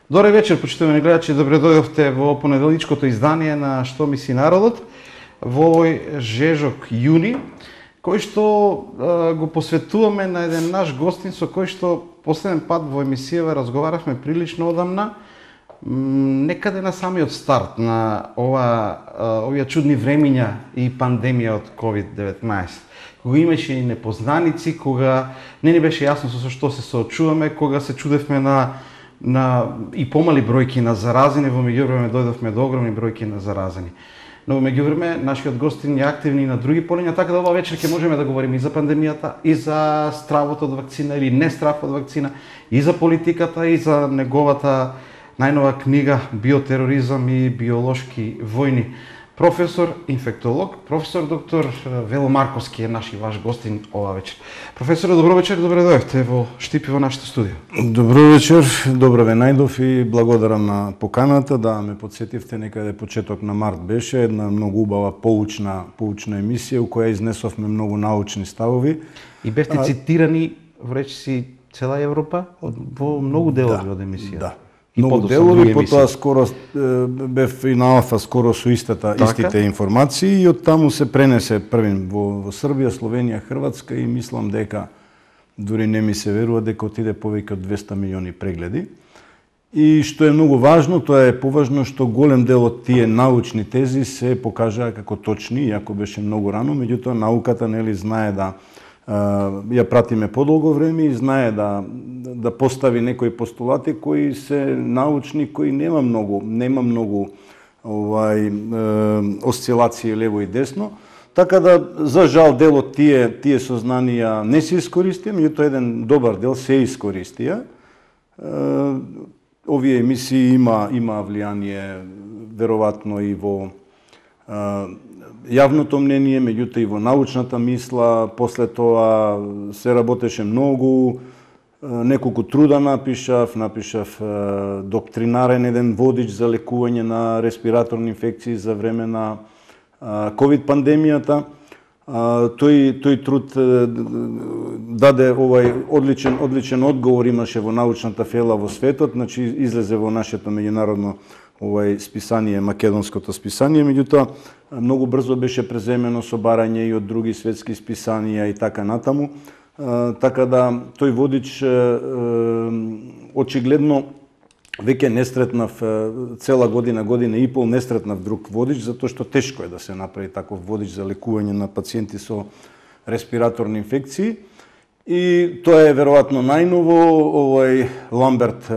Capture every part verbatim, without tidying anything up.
Добре вечер, почитувани гледачи, добре дојдовте во понеделничкото издание на Што мисли народот во овој жежок јуни, кој што а, го посветуваме на еден наш гостин со кој што последен пат во емисијава разговаравме прилично одамна, некаде на самиот старт на ова овие чудни времиња и пандемија од ковид деветнаесет. Кога имаше и непознаници, кога не ни беше јасно со што се соочуваме, кога се чудевме на на и помали бројки на заразени, во меѓувреме дојдовме до огромни бројки на заразени. Но во меѓувреме нашиот гостин е активни и на други полиња, така да ова вечер ќе можеме да говориме и за пандемијата, и за стравот од вакцина или не страв од вакцина, и за политиката, и за неговата најнова книга Биотероризам и биолошки војни. Професор, инфектолог, професор доктор Вело Марковски е наш и ваш гостин ова вечер. Професоре, добро вечер, добре дојдовте во Штипи во нашето студио. Добро вечер, добро ве најдов и благодарам на поканата, да ме подсетивте, некаде почеток на март беше една многу убава поучна поучна емисија у која изнесовме многу научни ставови. И бевте а... цитирани во речиси цела Европа во многу делови да, од емисија. Да. Многу делови, потоа скоро бев и на Алфа скоро со истата, така? Истите информации и од таму се пренесе првин во, во Србија, Словенија, Хрватска и мислам дека дури не ми се верува дека отиде повеќе од двесте милиони прегледи. И што е многу важно, тоа е поважно што голем дел од тие научни тези се покажаа како точни, иако беше многу рано, меѓутоа науката нели знае да ја пратиме подолго време и знае да да постави некои постулати кои се научни, кои нема многу, нема многу овај е, осцилации лево и десно. Така да за жал дел од тие тие сознанија не се искористија, меѓутоа еден добар дел се искористија. Е, овие емисии има има влијание веројатно и во е, јавното мнение, меѓутоа и во научната мисла. После тоа се работеше многу, неколку труда напишав, напишав доктринарен еден водич за лекување на респираторни инфекции за време на ковид пандемијата. Тој тој труд даде овај одличен одличен одговор, имаше во научната фела во светот, значи излезе во нашето меѓународно овај списание, македонското списание, меѓутоа многу брзо беше преземено со барање и од други светски списанија и така натаму. Така да тој водич очигледно веќе не сретнав цела година, година и пол не сретнав друг водич, затоа што тешко е да се направи таков водич за лекување на пациенти со респираторни инфекции. И тоа е веројатно најново, овој Ламберт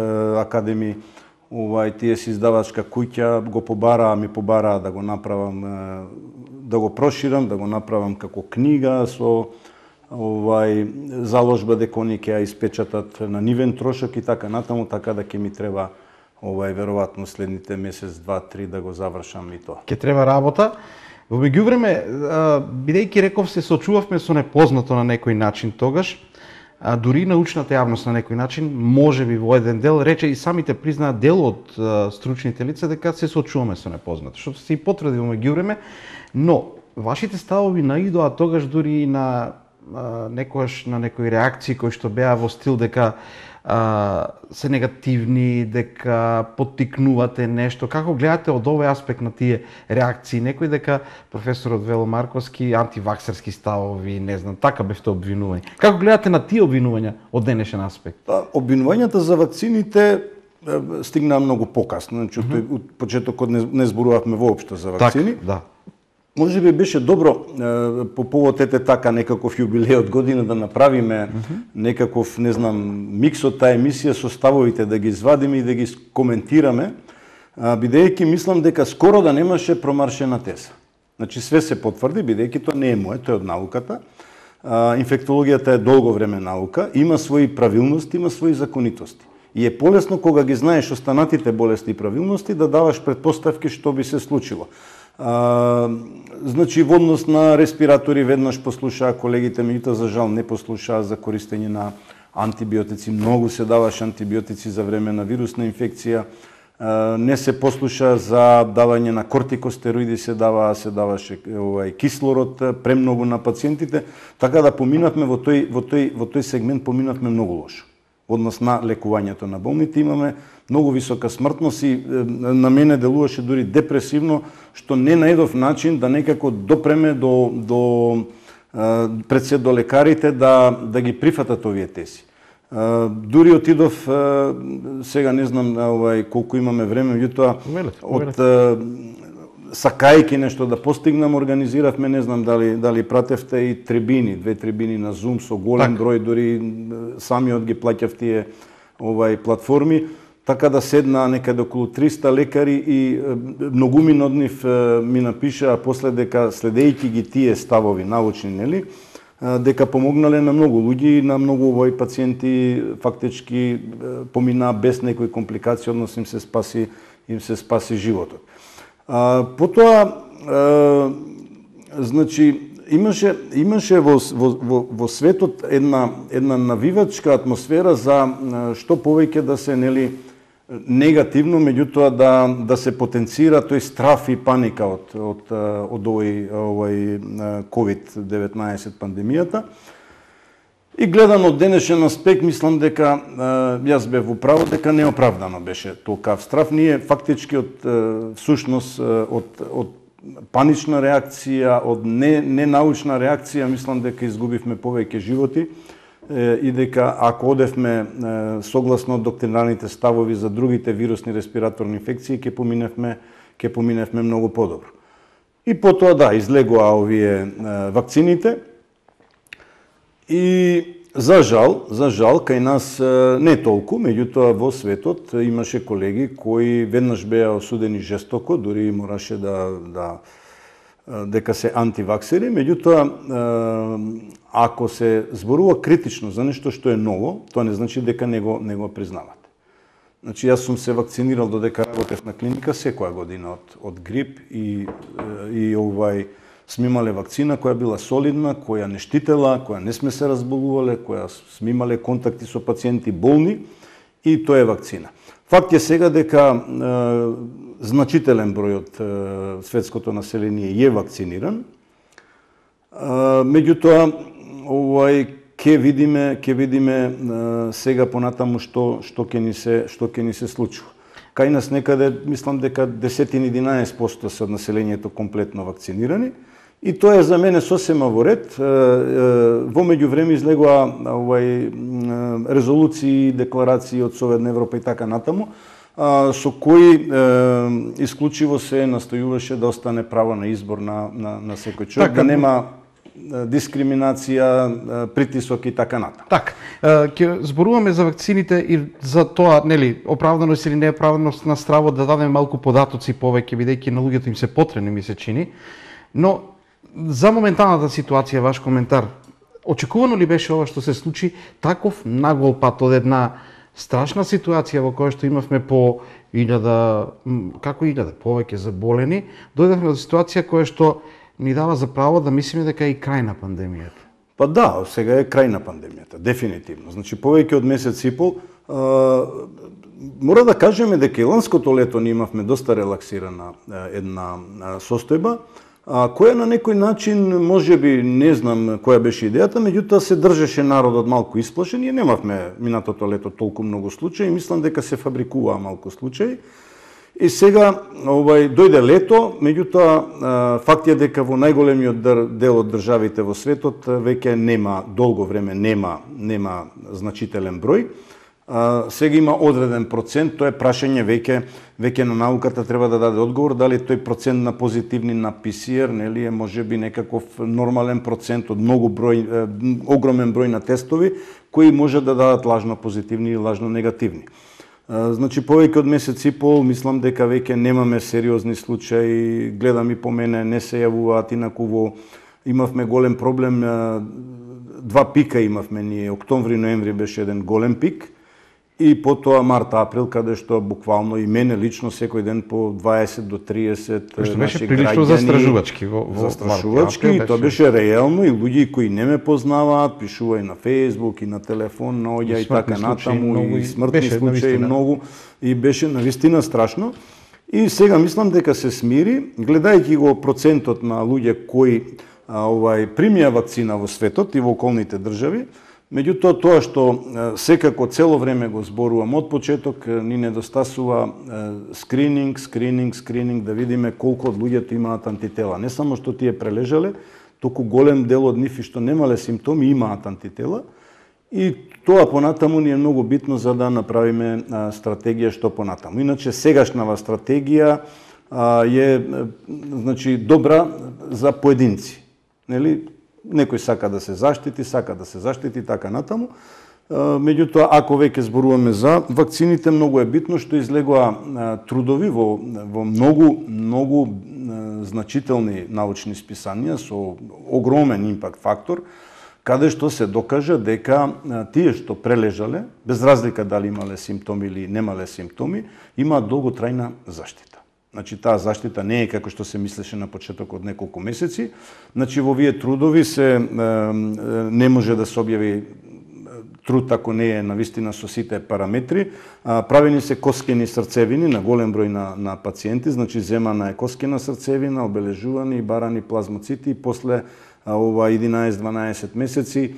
Академи, овај тие си издавачка куќа го побараа, ми побараа да го направам, да го проширам, да го направам како книга со овај заложба дека они ќе ја испечатат на нивен трошок и така натаму, така да ќе ми треба овај веројатно следните месец, два, три да го завршам и тоа. Ќе треба работа. Во меѓувреме, бидејќи реков се соочувавме со непознато на некој начин тогаш, а дури научната јавност на некој начин, може би во еден дел, рече и самите признаат дел од а, стручните лица дека се соочуваме со непознато, што се и потврди во меѓувреме, но вашите ставови наидоа тогаш дури и на а, некојаш на некои реакции кои што беа во стил дека а, се негативни, дека поттикнувате нешто. Како гледате од овој аспект на тие реакции? Некој дека професорот Вело Марковски антиваксерски ставови, не знам, така бевте обвинувани. Како гледате на тие обвинувања од денешен аспект? Па, обвинувањата за вакцините стигнаа многу покасно. Значи, mm-hmm. од почетокот не, не зборувавме воопшто за вакцини. Так, да. Може би беше добро е, по повод ете така некаков јубилеј од година да направиме mm-hmm. некаков, не знам, микс од таа емисија со ставовите, да ги извадиме и да ги коментираме, бидејќи мислам дека скоро да немаше промаршена теза. Значи све се потврди, бидејќи тоа не е мое, тоа е од науката. А, инфектологијата е долго време наука, има своји правилности, има своји законитости. И е полесно кога ги знаеш останатите болести и правилности да даваш предпоставки што би се случило. А, значи, во однос на респиратори веднаш послушаа колегите, меѓутоа за жал не послушаа за користење на антибиотици. Многу се даваше антибиотици за време на вирусна инфекција. А, не се послуша за давање на кортикостероиди, се дава, се даваше овај кислород премногу на пациентите, така да поминавме во тој во тој во тој сегмент поминавме многу лошо. однос на лекувањето на болните. Имаме многу висока смртност и на мене делуваше дури депресивно, што не најдов начин да некако допреме до, до пред се до лекарите да, да ги прифатат овие тези. Дури отидов, сега не знам овај, колку имаме време, меѓутоа од сакајки нешто да постигнам, организиравме, не знам дали дали пратевте и трибини, две трибини на Zoom со голем так. Број, дури самиот ги плаќав тие овај платформи, така да седна некаде околу триста лекари и многумин од нив ми напишаа после дека следејќи ги тие ставови научни, нели, дека помогнале на многу луѓе и на многу овој пациенти фактички поминаа без некои компликации, односно им се спаси им се спаси животот. А, потоа а, значи имаше имаше во во во, во светот една една навивачка атмосфера за што повеќе да се, нели, негативно, меѓутоа да да се потенцира тој страф и паника од од од овој овој ковид деветнаесет пандемијата. И гледано од денешен аспект, мислам дека јас бев во право дека неоправдано беше толкав страф. Ние фактички од всушност од од панична реакција, од не ненаучна реакција, мислам дека изгубивме повеќе животи и дека ако одевме согласно доктринарните ставови за другите вирусни респираторни инфекции, ќе поминевме ќе поминевме многу подобро. И потоа да, излегоа овие вакцините. И за жал, за жал, кај нас не толку, меѓутоа во светот имаше колеги кои веднаш беа осудени жестоко, дури мораше да, да дека се антиваксери, меѓутоа ако се зборува критично за нешто што е ново, тоа не значи дека не го не го признават. Значи јас сум се вакцинирал додека работев на клиника секоја година од од грип и и овај сме имале вакцина која била солидна, која не штитела, која не сме се разболувале, која сме имале контакти со пациенти болни и тоа е вакцина. Факт е сега дека е, значителен број од е, светското население е вакциниран. Е, меѓутоа, овај ќе видиме, ќе видиме е, сега понатаму што што ќе ни се што ќе ни се случува. Кај нас некаде мислам дека десет единаесет проценти се од населението комплетно вакцинирани. И тоа е за мене сосема во ред. Во меѓувреме излегоа овај резолуции, декларации од Советна Европа и така натаму, со кои исклучиво се настојуваше да остане право на избор на на, на секој човек, така, да нема дискриминација, притисок и така натаму. Так, ќе зборуваме за вакцините и за тоа, нели, оправданост или неоправданост на страво, да дадеме малку податоци повеќе, бидејќи на луѓето им се потребни, ми се чини. Но за моменталната ситуација, ваш коментар, очекувано ли беше ова што се случи, таков нагол пат од една страшна ситуација во која што имавме по илјада, како илјада, повеќе заболени, дојдовме до ситуација која што ни дава за право да мислиме дека е и крај на пандемијата? Па да, сега е крај на пандемијата, дефинитивно. Значи, повеќе од месец и пол, а, мора да кажеме дека и ланското лето ние имавме доста релаксирана една состојба, а, која на некој начин, можеби, не знам која беше идејата, меѓутоа се држеше народот малку исплашен. Ние немавме минатото лето толку многу случаи, мислам дека се фабрикуваа малку случаи. И сега овај дојде лето, меѓутоа факт е дека во најголемиот дел од државите во светот веќе нема долго време нема нема значителен број. А, сега има одреден процент, тоа е прашање веќе веќе на науката треба да даде одговор дали тој процент на позитивни на пи си ар, нели, е можеби некаков нормален процент од многу број е, огромен број на тестови кои може да дадат лажно позитивни или лажно негативни. Значи, повеќе од месец и пол, мислам дека веќе немаме сериозни случаи, гледам и по мене, не се јавуваат, инаку во имавме голем проблем, два пика имавме ние, октомври, ноември беше еден голем пик, и потоа март, април, каде што буквално и мене лично секој ден по дваесет до триесет наши граѓани. Беше прилично застрашувачки во, во застрашувачки, март, и тоа беше реално, и луѓе кои не ме познаваат, пишува и на Фејсбук, и на телефон, наоѓа и, и така натаму, много, и смртни случаи многу, и беше навистина страшно. И сега мислам дека се смири, гледајќи го процентот на луѓе кои а, овај примија вакцина во светот и во околните држави, Меѓутоа, тоа што секако цело време го зборувам од почеток, ни недостасува скрининг, скрининг, скрининг, да видиме колку од луѓето имаат антитела. Не само што тие прележале, току голем дел од нив и што немале симптоми имаат антитела. И тоа понатаму ни е многу битно за да направиме стратегија што понатаму. Иначе сегашнава стратегија е значи добра за поединци, нели? Некој сака да се заштити, сака да се заштити така натаму. Меѓутоа, ако веќе зборуваме за вакцините, многу е битно што излегоа трудови во, во многу, многу значителни научни списанија со огромен импакт фактор, каде што се докажа дека тие што прележале, без разлика дали имале симптоми или немале симптоми, имаат долготрајна заштита. Значи, таа заштита не е како што се мислеше на почеток од неколку месеци. Значи, во овие трудови се не може да се објави труд ако не е навистина со сите параметри. Правени се коскени срцевини на голем број на, на пациенти, значи земана е коскена срцевина, обележувани и барани плазмоцити и после ова единаесет-дванаесет месеци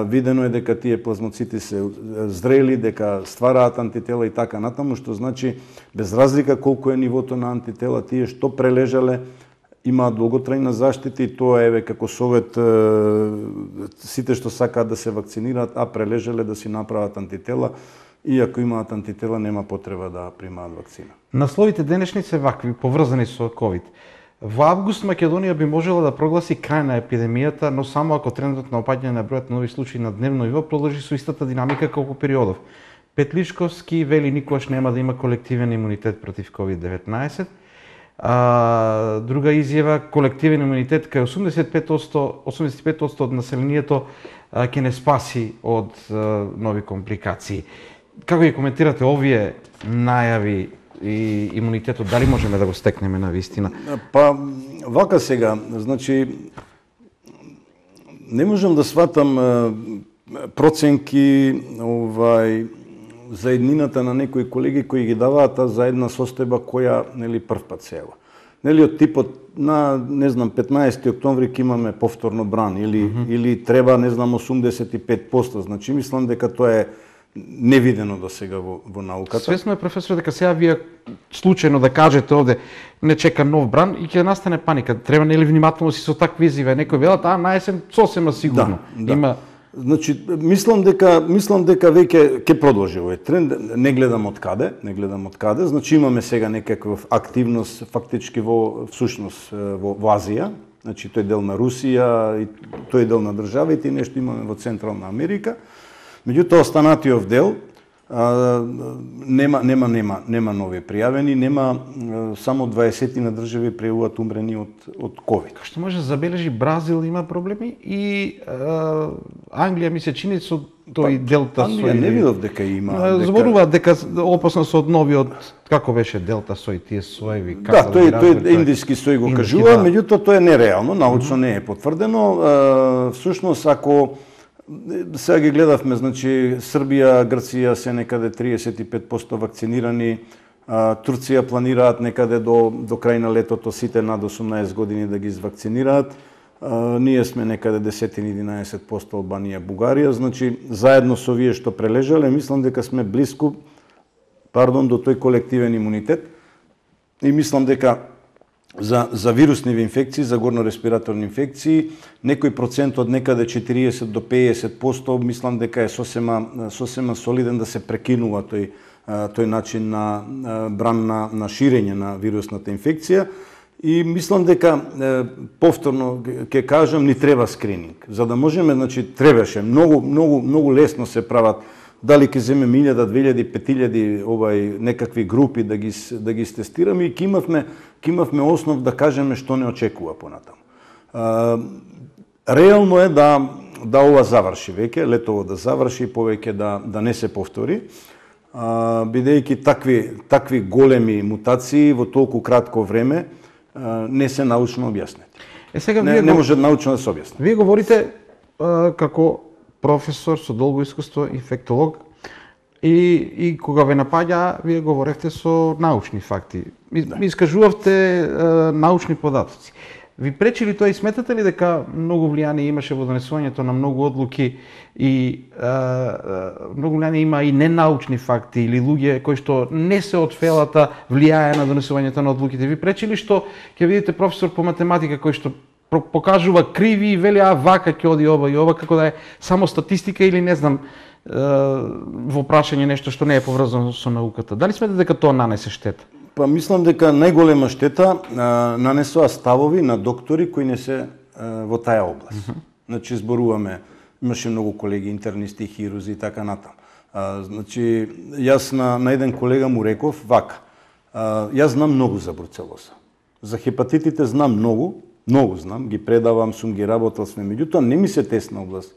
видено е дека тие плазмоцити се зрели, дека ствараат антитела и така натаму, што значи без разлика колку е нивото на антитела, тие што прележале имаат долготрајна заштита и тоа еве како совет сите што сакаат да се вакцинираат, а прележале да си направат антитела, и ако имаат антитела нема потреба да примаат вакцина. Насловите денешни се вакви, поврзани со ковид. Во август Македонија би можела да прогласи крај на епидемијата, но само ако трендот на опаѓање на бројот на нови случаи на дневно ниво продолжи со истата динамика колку периодов. Петлишковски вели никогаш нема да има колективен имунитет против ковид деветнаесет. А, друга изјава, колективен имунитет кај осумдесет и пет одсто, осумдесет и пет одсто од населението а, ќе не спаси од а, нови компликации. Како ги коментирате овие најави и имунитетот, дали можеме да го стекнеме на вистина? Па, вака сега, значи, не можам да сватам проценки овај, за еднината на некои колеги кои ги даваат за една состојба која, нели, прв пат се ева. Нели, од типот на, не знам, петнаесети октомври ќе имаме повторно бран или, mm -hmm. или треба, не знам, осумдесет и пет одсто. Значи, мислам дека тоа е невидено до сега во, во науката. Свесно е, професор, дека сега вие случајно да кажете овде не чека нов бран и ќе настане паника. Треба нели внимателно си со такви изјави. Некој велат, а на есен сосема сигурно. Да, да. Има Значи, мислам дека мислам дека веќе ќе продолжи овој тренд. Не гледам од каде, не гледам од каде. Значи имаме сега некаква активност фактички во всушност во, во Азија. Значи тој дел на Русија и тој дел на државите и нешто имаме во Централна Америка. Меѓутоа останатиот дел а, нема нема нема нема нови пријавени, нема а, само дваесет на држави пријавуваат умрени од од ковид. Што може да забележи Бразил има проблеми и а, Англија ми се чини со тој па, делта сој. Англија не видов дека има. Дека... Зборуваат дека опасно со од новиот, како беше делта сој, тие соеви. Да, тој да тој индиски сој го кажува, да. Меѓутоа тоа е нереално, научно не е потврдено. А, всушност ако сега ги гледавме, значи Србија, Грција се некаде триесет и пет одсто вакцинирани, а, Турција планираат некаде до до крај на летото сите над осумнаесет години да ги извакцинираат. А, ние сме некаде десет-единаесет одсто Албанија, Бугарија, значи заедно со вие што прележале, мислам дека сме блиску, пардон, до тој колективен имунитет и мислам дека За, за вирусни инфекции, за горно-респираторни инфекции, некој процент од некаде четириесет до пеесет одсто, мислам дека е сосема, сосема солиден да се прекинува тој, тој начин на бран на, на ширење на вирусната инфекција. И мислам дека, повторно ќе кажам, ни треба скрининг. За да можеме, значи, требаше, многу, многу, многу лесно се прават, дали ќе земеме илјада, две-илјади, пет-илјади овај некакви групи да ги да ги тестираме и ќе имавме ќе имавме основ да кажеме што не очекува понатаму. А, реално е да да ова заврши веќе, летово да заврши и повеќе да да не се повтори. А, бидејќи такви такви големи мутации во толку кратко време а, не се научно објаснети. Е сега не, вие не го... може научно да се објасни. Вие говорите а, како професор со долго искуство, инфектолог, и, и кога ве напаѓа, вие говоревте со научни факти. Ми, да. ми искажувавте а, научни податоци. Ви пречи ли тоа и сметате ли дека многу влијание имаше во донесувањето на многу одлуки и а, многу влијание има и ненаучни факти или луѓе кои што не се од фелата влијае на донесувањето на одлуките? Ви пречи ли што ќе видите професор по математика кој што покажува криви и вели а вака ќе оди ова и ова, како да е само статистика или не знам во прашање нешто што не е поврзано со науката? Дали сметате дека тоа нанесе штета? Па мислам дека најголема штета а, нанесоа ставови на доктори кои не се а, во таа област. Mm -hmm. Значи зборуваме, имаше многу колеги интернисти, хирузи и така натаму. А, значи јас на, на еден колега му реков вака. А, јас знам многу за бруцелоза. За хепатитите знам многу, многу знам, ги предавам, сум ги работел сме, меѓутоа не ми се тесна област.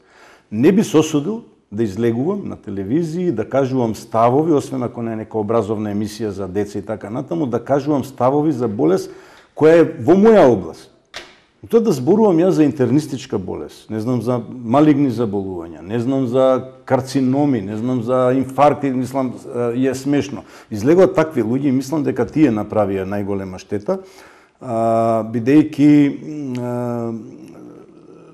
Не би се осудил да излегувам на телевизија, да кажувам ставови, освен ако не е нека образовна емисија за деца и така натаму, да кажувам ставови за болест која е во моја област. Тоа да зборувам јас за интернистичка болест, не знам за малигни заболувања, не знам за карциноми, не знам за инфаркти, мислам е смешно. Излегуваат такви луѓе и мислам дека тие направија најголема штета, бидејќи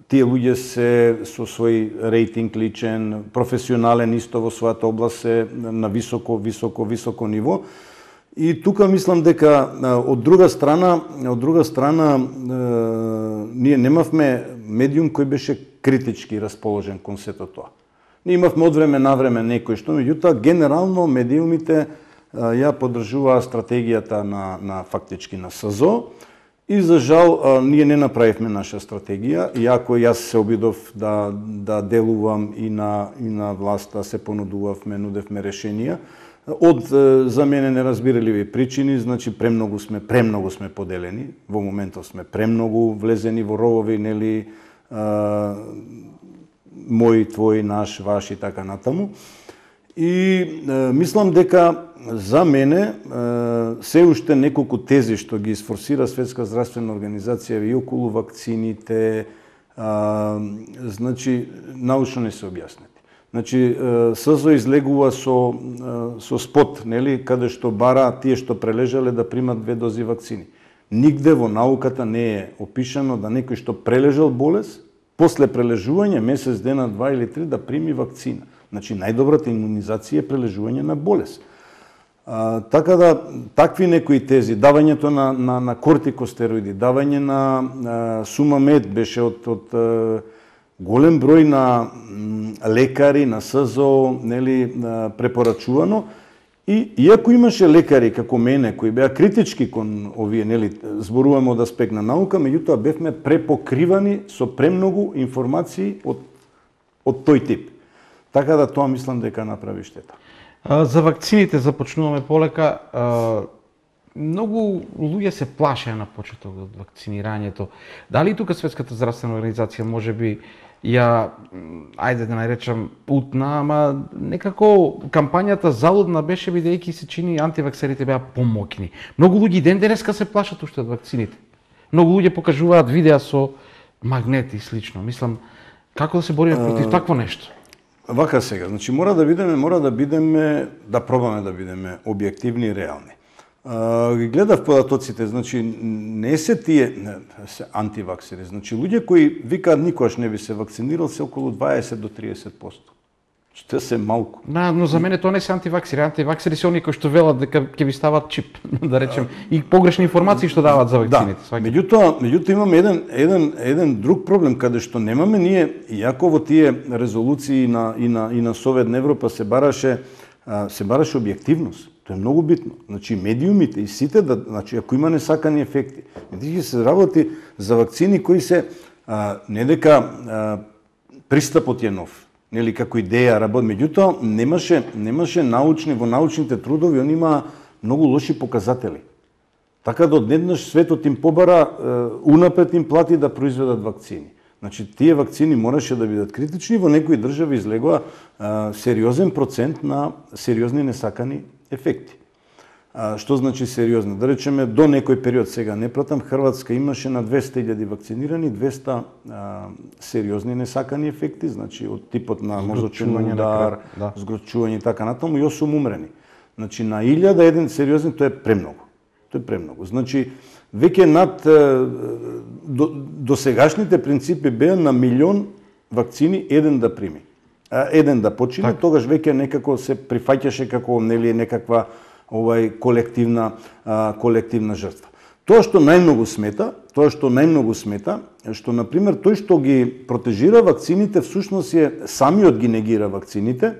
тие луѓе се со свој рейтинг личен, професионален исто во својата област се на високо, високо, високо ниво. И тука мислам дека од друга страна, од друга страна ние немавме медиум кој беше критички расположен кон сето тоа. Ние имавме од време на време некој што, меѓутоа генерално медиумите ја поддржуваа стратегијата на на фактички на СЗО. И за жал ние не направивме наша стратегија, иако јас се обидов да да делувам и на и на власта, се понудувавме, нудевме решенија. Од за мене неразбирливи причини, значи премногу сме премногу сме поделени, во моментот сме премногу влезени во ровови, нели а, мој, твој, наш, ваш и така натаму. И а, мислам дека за мене се уште неколку тези што ги изфорсира Светска здравствена организација и околу вакцините, а, значи научно не се објаснети. Значи СЗО излегува со со спот, нели, каде што бара тие што прележале да примат две дози вакцини. Нигде во науката не е опишано да некој што прележал болест, после прележување месец дена, два или три да прими вакцина. Значи најдобрата имунизација е прележување на болест. А, така да такви некои тези, давањето на на на кортикостероиди, давање на а, сумамед беше од од а, голем број на лекари, на СЗО, нели, препорачувано. И иако имаше лекари како мене кои беа критички кон овие, нели, зборуваме од аспект на наука, меѓутоа бевме препокривани со премногу информации од од тој тип. Така да тоа мислам дека направи штета. За вакцините започнуваме полека. Многу луѓе се плашеа на почеток од вакцинирањето. Дали тука Светската здравствена организација можеби ја, ајде да наречам, путна, ама некако кампањата залудна беше бидејќи се чини антиваксерите беа помоќни. Многу луѓе ден денеска се плашат уште од вакцините. Многу луѓе покажуваат видеа со магнети и слично. Мислам, како да се бориме против такво нешто? Вака сега, значи мора да бидеме, мора да бидеме, да пробаме да бидеме објективни и реални. Ги гледав податоците, значи не се тие не, се антиваксери, значи луѓе кои викаат никогаш не би се вакцинирал се околу дваесет до триесет проценти. Што се малку. Да, но за мене тоа не се антиваксери. Антиваксери се оние кои што велат дека ќе ви стават чип, да речем, и погрешни информации што даваат за вакцините. Да, меѓутоа, меѓутоа имаме еден еден еден друг проблем каде што немаме ние, иако во тие резолуции на и на и на Совет на Европа се бараше се бараше објективност. Тоа е многу битно. Значи медиумите и сите да, значи ако има несакани ефекти, ќе се работи за вакцини кои се а, не дека а, пристапот е нов, нели како идеја работи, меѓутоа немаше немаше научни во научните трудови, они има многу лоши показатели. Така да однеднаш светот им побара, унапред им плати да произведат вакцини. Значи тие вакцини мораше да бидат критични, во некои држави излегува а, сериозен процент на сериозни несакани ефекти. А, што значи сериозно? Да речеме, до некој период, сега не пратам, Хрватска имаше на двесте илјади вакцинирани, двесте а, сериозни несакани ефекти, значи од типот на мозочен удар, згрочување и така натаму, и осум умрени. Значи на илјада еден сериозен, тоа е премногу. Тоа е премногу. Значи, веќе над до, до сегашните принципи беа на милион вакцини еден да прими. А, еден да почине, так. Тогаш веќе некако се прифаќаше како нели некаква овај колективна а, колективна жртва. Тоа што најмногу смета, тоа што најмногу смета, е што на пример тој што ги протежира вакцините всушност е самиот ги негира вакцините,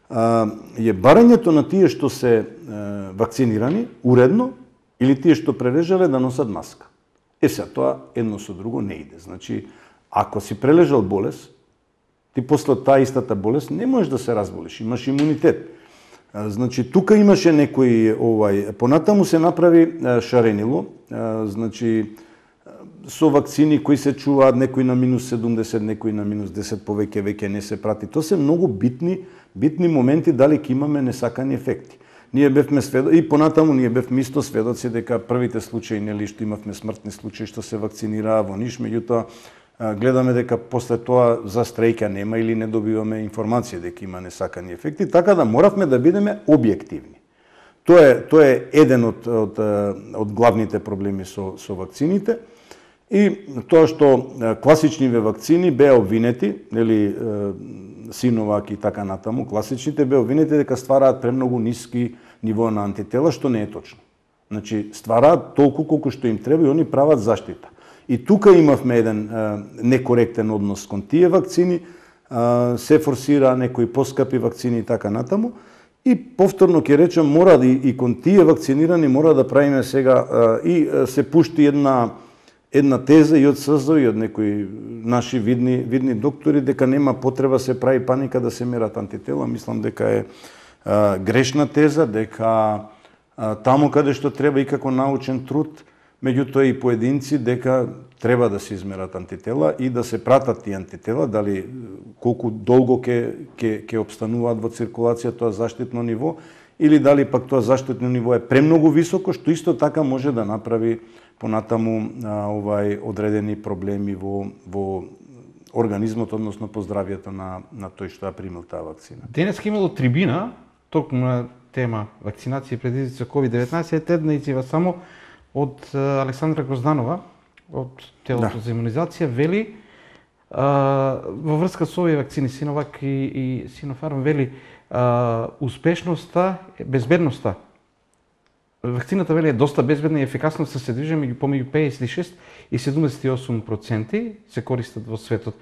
а, е барањето на тие што се а, вакцинирани уредно или тие што прележале да носат маска. Е сега тоа едно со друго не иде. Значи, ако си прележал болест, ти после таа истата болест не можеш да се разболиш, имаш имунитет. Значи, тука имаше некој, овај, понатаму се направи шаренило, значи, со вакцини кои се чуваат, некои на минус седумдесет, некои на минус десет, повеќе веќе не се прати. Тоа се многу битни, битни моменти дали ќе имаме несакани ефекти. Ние бевме сведоци, и понатаму ние бевме исто сведоци дека првите случаи, нели, што имавме смртни случаи што се вакцинираа во Ниш, меѓутоа гледаме дека после тоа за стрејка нема или не добиваме информација дека има несакани ефекти, така да моравме да бидеме објективни. Тоа е тоа е еден од од од главните проблеми со со вакцините и тоа што класичниве вакцини беа обвинети, нели Синовак и така натаму, класичните беа обвинети дека ствараат премногу ниски ниво на антитела, што не е точно. Значи ствараат толку колку што им треба и они прават заштита. И тука имавме еден а, некоректен однос кон тие вакцини, а, се форсира некои поскапи вакцини и така натаму. И повторно ќе речам, мора да и, и кон тие вакцинирани мора да правиме сега а, и а, се пушти една една теза и од СЗО и од некои наши видни видни доктори дека нема потреба се прави паника да се мерат антитела. Мислам дека е а, грешна теза, дека а, таму каде што треба и како научен труд, меѓутоа и поединци дека треба да се измерат антитела и да се пратат тие антитела, дали колку долго ќе ќе ќе опстануваат во циркулација тоа заштитно ниво или дали пак тоа заштитно ниво е премногу високо, што исто така може да направи понатаму а, овај одредени проблеми во во организмот, односно по здравјето на на тој што ја примил таа вакцина. Денеска имало трибина токму на тема вакцинација предизвици со ковид деветнаесет, една изјава само од Александра Грозданова, од телото да. за имунизација, вели а, во врска со овие вакцини Синовак и, и Синофарм, вели а, успешноста, безбедноста. Вакцината, вели, е доста безбедна и ефикасна, се движи меѓу помеѓу пеесет и шест и седумдесет и осум проценти се користат во светот.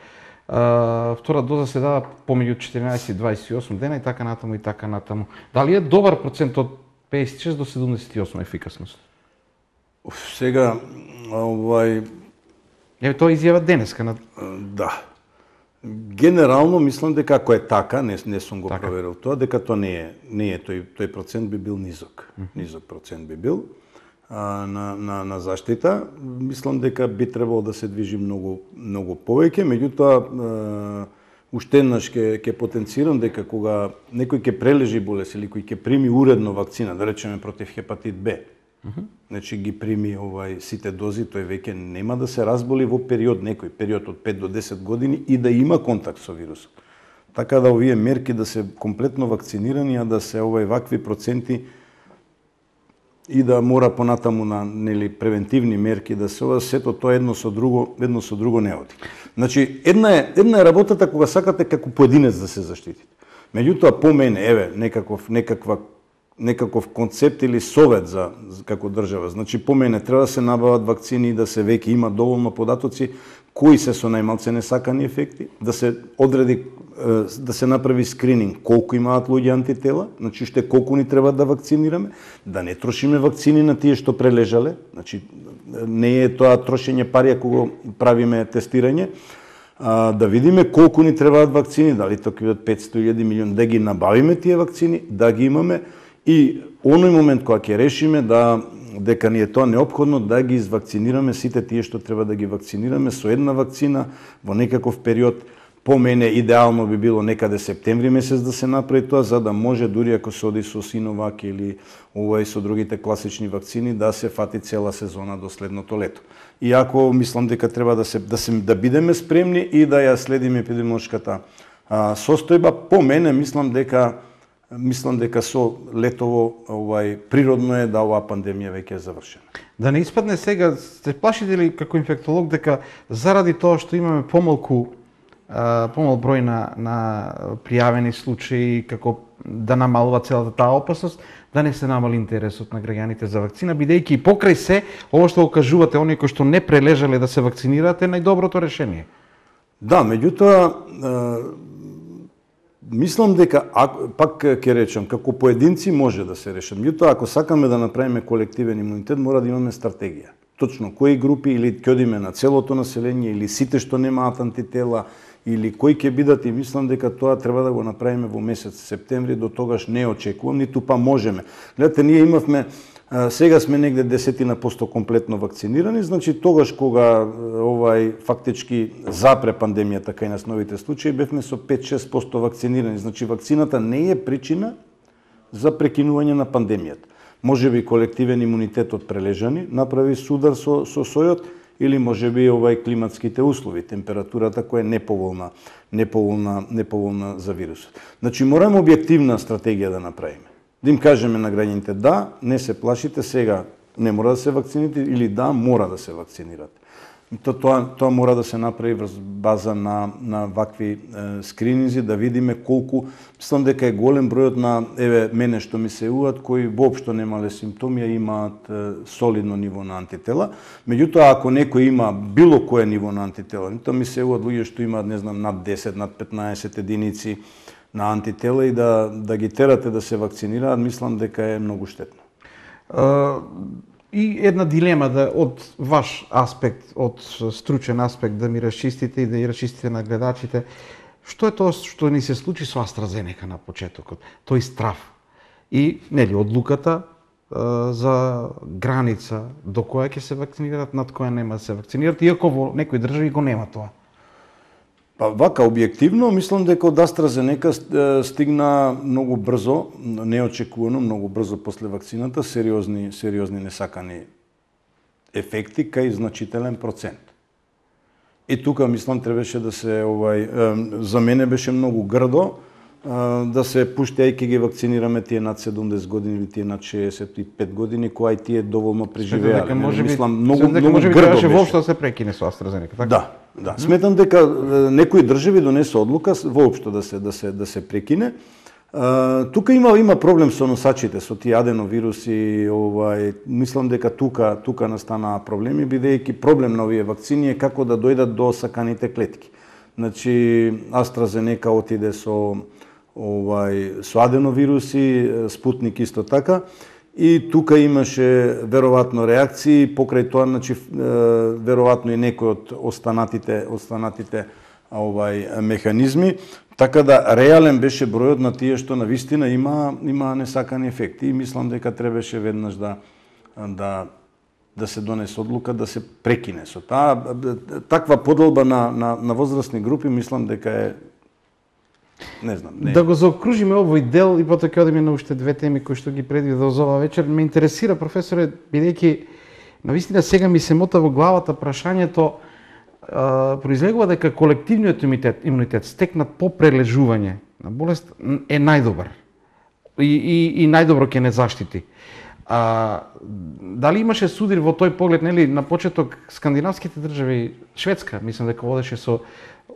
А, втора доза се дава помеѓу четиринаесет и дваесет и осум дена и така натаму и така натаму. Дали е добар процент од пеесет и шест до седумдесет и осум ефикасност? Сега, овај... Еве, тоа изјава денеска. На... Да. Генерално, мислам дека ако е така, не, не сум го така. проверил тоа, дека тоа не е, не е тој, тој процент би бил низок. Mm -hmm. Низок процент би бил а, на, на, на заштита. Мислам дека би требало да се движи многу, многу повеќе, меѓутоа, уште еднаш ќе ќе потенцирам дека кога некој ќе прележи болест или кој ќе прими уредно вакцина, да речеме против хепатит Б, Uh -huh. значи ги прими овај сите дози, тој веќе нема да се разболи во период, некој период од пет до десет години и да има контакт со вирусот. Така да овие мерки да се комплетно вакцинирани, а да се овај вакви проценти и да мора понатаму на нели превентивни мерки да се ова сето тоа едно со друго, едно со друго не оди. Значи една е една е работата кога сакате како поединец да се заштитите. Меѓутоа по мене еве некаков некаква некаков концепт или совет за, за како држава. Значи по мене треба да се набават вакцини и да се веќе има доволно податоци кои се со најмалце несакани ефекти, да се одреди да се направи скрининг колку имаат луѓе антитела, значи уште колку ни треба да вакцинираме, да не трошиме вакцини на тие што прележале, значи не е тоа трошење пари ако го правиме тестирање, а, да видиме колку ни требаат вакцини, дали тоа ќе бидат петсто илјади милиони, да ги набавиме тие вакцини, да ги имаме и оној момент кога ќе решиме да дека ни е тоа неопходно да ги извакцинираме сите тие што треба да ги вакцинираме со една вакцина во некаков период. По мене идеално би било некаде септември месец да се направи тоа, за да може дури ако се оди со Синовак или овој со другите класични вакцини да се фати цела сезона до следното лето. Иако мислам дека треба да се да се да бидеме спремни и да ја следиме епидемиолошката а, состојба, по мене мислам дека мислам дека со летово овај природно е да оваа пандемија веќе е завршена. Да не испадне сега, се плашите ли како инфектолог дека заради тоа што имаме помалку помал број на, на пријавени случаи, како да намалува целата таа опасност, да не се намали интересот на граѓаните за вакцина, бидејќи и покрај се, ово што го кажувате, оние кои што не прележале да се вакцинираат, е најдоброто решение. Да, меѓутоа, мислам дека, пак ќе речам, како поединци може да се решат. Меѓутоа, ако сакаме да направиме колективен имунитет, мора да имаме стратегија. Точно кои групи, или ќе одиме на целото население, или сите што немаат антитела, или кои ќе бидат, и мислам дека тоа треба да го направиме во месец септември, до тогаш не очекувам, ниту па можеме. Гледате, ние имавме, сега сме негде десетина посто комплетно вакцинирани, значи тогаш кога овај фактички запре пандемијата кај нас новите случаи, бевме со пет-шест посто вакцинирани. Значи вакцината не е причина за прекинување на пандемијата. Може би колективен имунитет од прележани направи судар со, со сојот, или може би овај климатските услови, температурата која е неповолна, неповолна, неповолна за вирусот. Значи мораме објективна стратегија да направиме. Да им кажеме на граѓаните да, не се плашите, сега не мора да се вакцинирате, или да, мора да се вакцинирате. То, тоа, тоа мора да се направи врз база на, на вакви е, скрининзи, да видиме колку, мислам дека е голем бројот на, еве, мене што ми се јавуваат, кои воопшто немале симптоми, а имаат е, солидно ниво на антитела. Меѓутоа, ако некој има било кое ниво на антитела, тоа ми се јавуваат луѓе што имаат, не знам, над десет, над петнаесет единици на антитела и да, да ги терате да се вакцинираат, мислам дека е многу штетно. Uh... И една дилема да од ваш аспект, од стручен аспект да ми расчистите и да ја расчистите на гледачите. Што е тоа што ни се случи со AstraZeneca на почетокот? Тој страв и нели одлуката е, за граница до која ќе се вакцинираат, над која нема да се вакцинираат, иако во некои држави го нема тоа. Па вака објективно, мислам дека од AstraZeneca стигна многу брзо, неочекувано, многу брзо после вакцината, сериозни, сериозни несакани ефекти кај значителен процент. И тука мислам требаше да се овај за мене беше многу грдо да се пушти, ај ќе ги вакцинираме тие над седумдесет години или тие над шеесет и пет години, кои тие доволно преживеале. Мислам многу многу грдо беше. Воопшто да се прекине со AstraZeneca, така? Да. Да, сметам дека некои држави донесе одлука воопшто да се да се да се прекине. А, тука има има проблем со носачите, со тие аденовируси, овај, мислам дека тука тука настанаа проблеми, бидејќи проблем на овие вакцини е како да дојдат до саканите клетки. Значи AstraZeneca отиде со овај со аденовируси, Спутник исто така. И тука имаше веројатно реакции, покрај тоа, значи веројатно и некои од останатите останатите овај механизми, така да реален беше бројот на тие што навистина има има несакани ефекти, и мислам дека требаше веднаш да да да се донесе одлука да се прекине со таа таква поделба на на на возрастни групи, мислам дека е Не знам, не. Да го заокружиме овој дел и потоа ќе одиме на уште две теми кои што ги предвидов за оваа вечер. Ме интересира, професоре, бидејќи навистина сега ми се мота во главата прашањето, а, произлегува дека колективниот имунитет, имунитет стекнат по прележување на болест е најдобар и, и, и најдобро ќе не заштити. А, дали имаше судир во тој поглед, нели, на почеток скандинавските држави, Шведска, мислам дека водеше со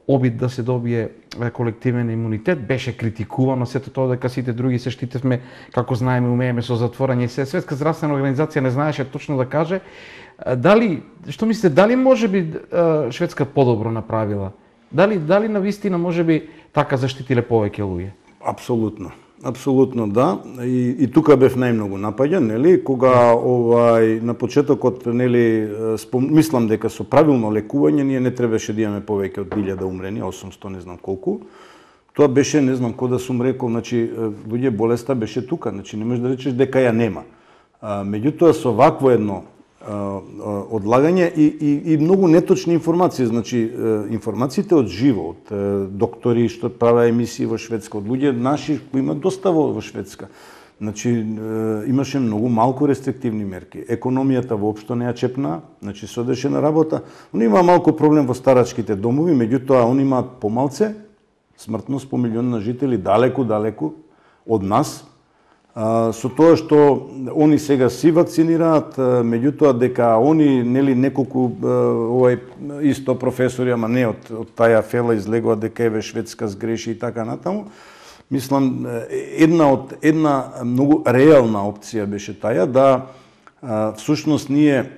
обид да се добие колективен имунитет, беше критикувано сето тоа дека сите други се штитевме, како знаеме, умееме со затворање и се. Светска здравствена организација не знаеше точно да каже. Дали, што мислите, дали може би Шведска подобро направила? Дали, дали навистина може би така заштитиле повеќе луѓе? Апсолутно. Апсолутно да. И, и тука бев најмногу напаѓан, нели, кога овај на почетокот, нели, спом... мислам дека со правилно лекување ние не требаше да имаме повеќе од илјада умрени, осумсто не знам колку. Тоа беше, не знам кој да сум рекол, значи луѓе болеста беше тука, значи не можеш да речеш дека ја нема. А, меѓутоа со вакво едно одлагање и, и, и многу неточни информации, значи информациите од живо, од доктори што правеа емисии во Шведска, од луѓе наши кои имаат доста во Шведска. Значи имаше многу малку рестриктивни мерки. Економијата воопшто не ја чепна, значи се одеше на работа. Он има малку проблем во старачките домови, меѓутоа он имаат помалце смртност по милион на жители, далеку, далеку од нас. Со тоа што они сега си вакцинираат, меѓутоа дека они нели неколку овај исто професори, ама не од, од таја фела излегува дека еве Шведска сгреши и така натаму. Мислам една од една многу реална опција беше таја да всушност ние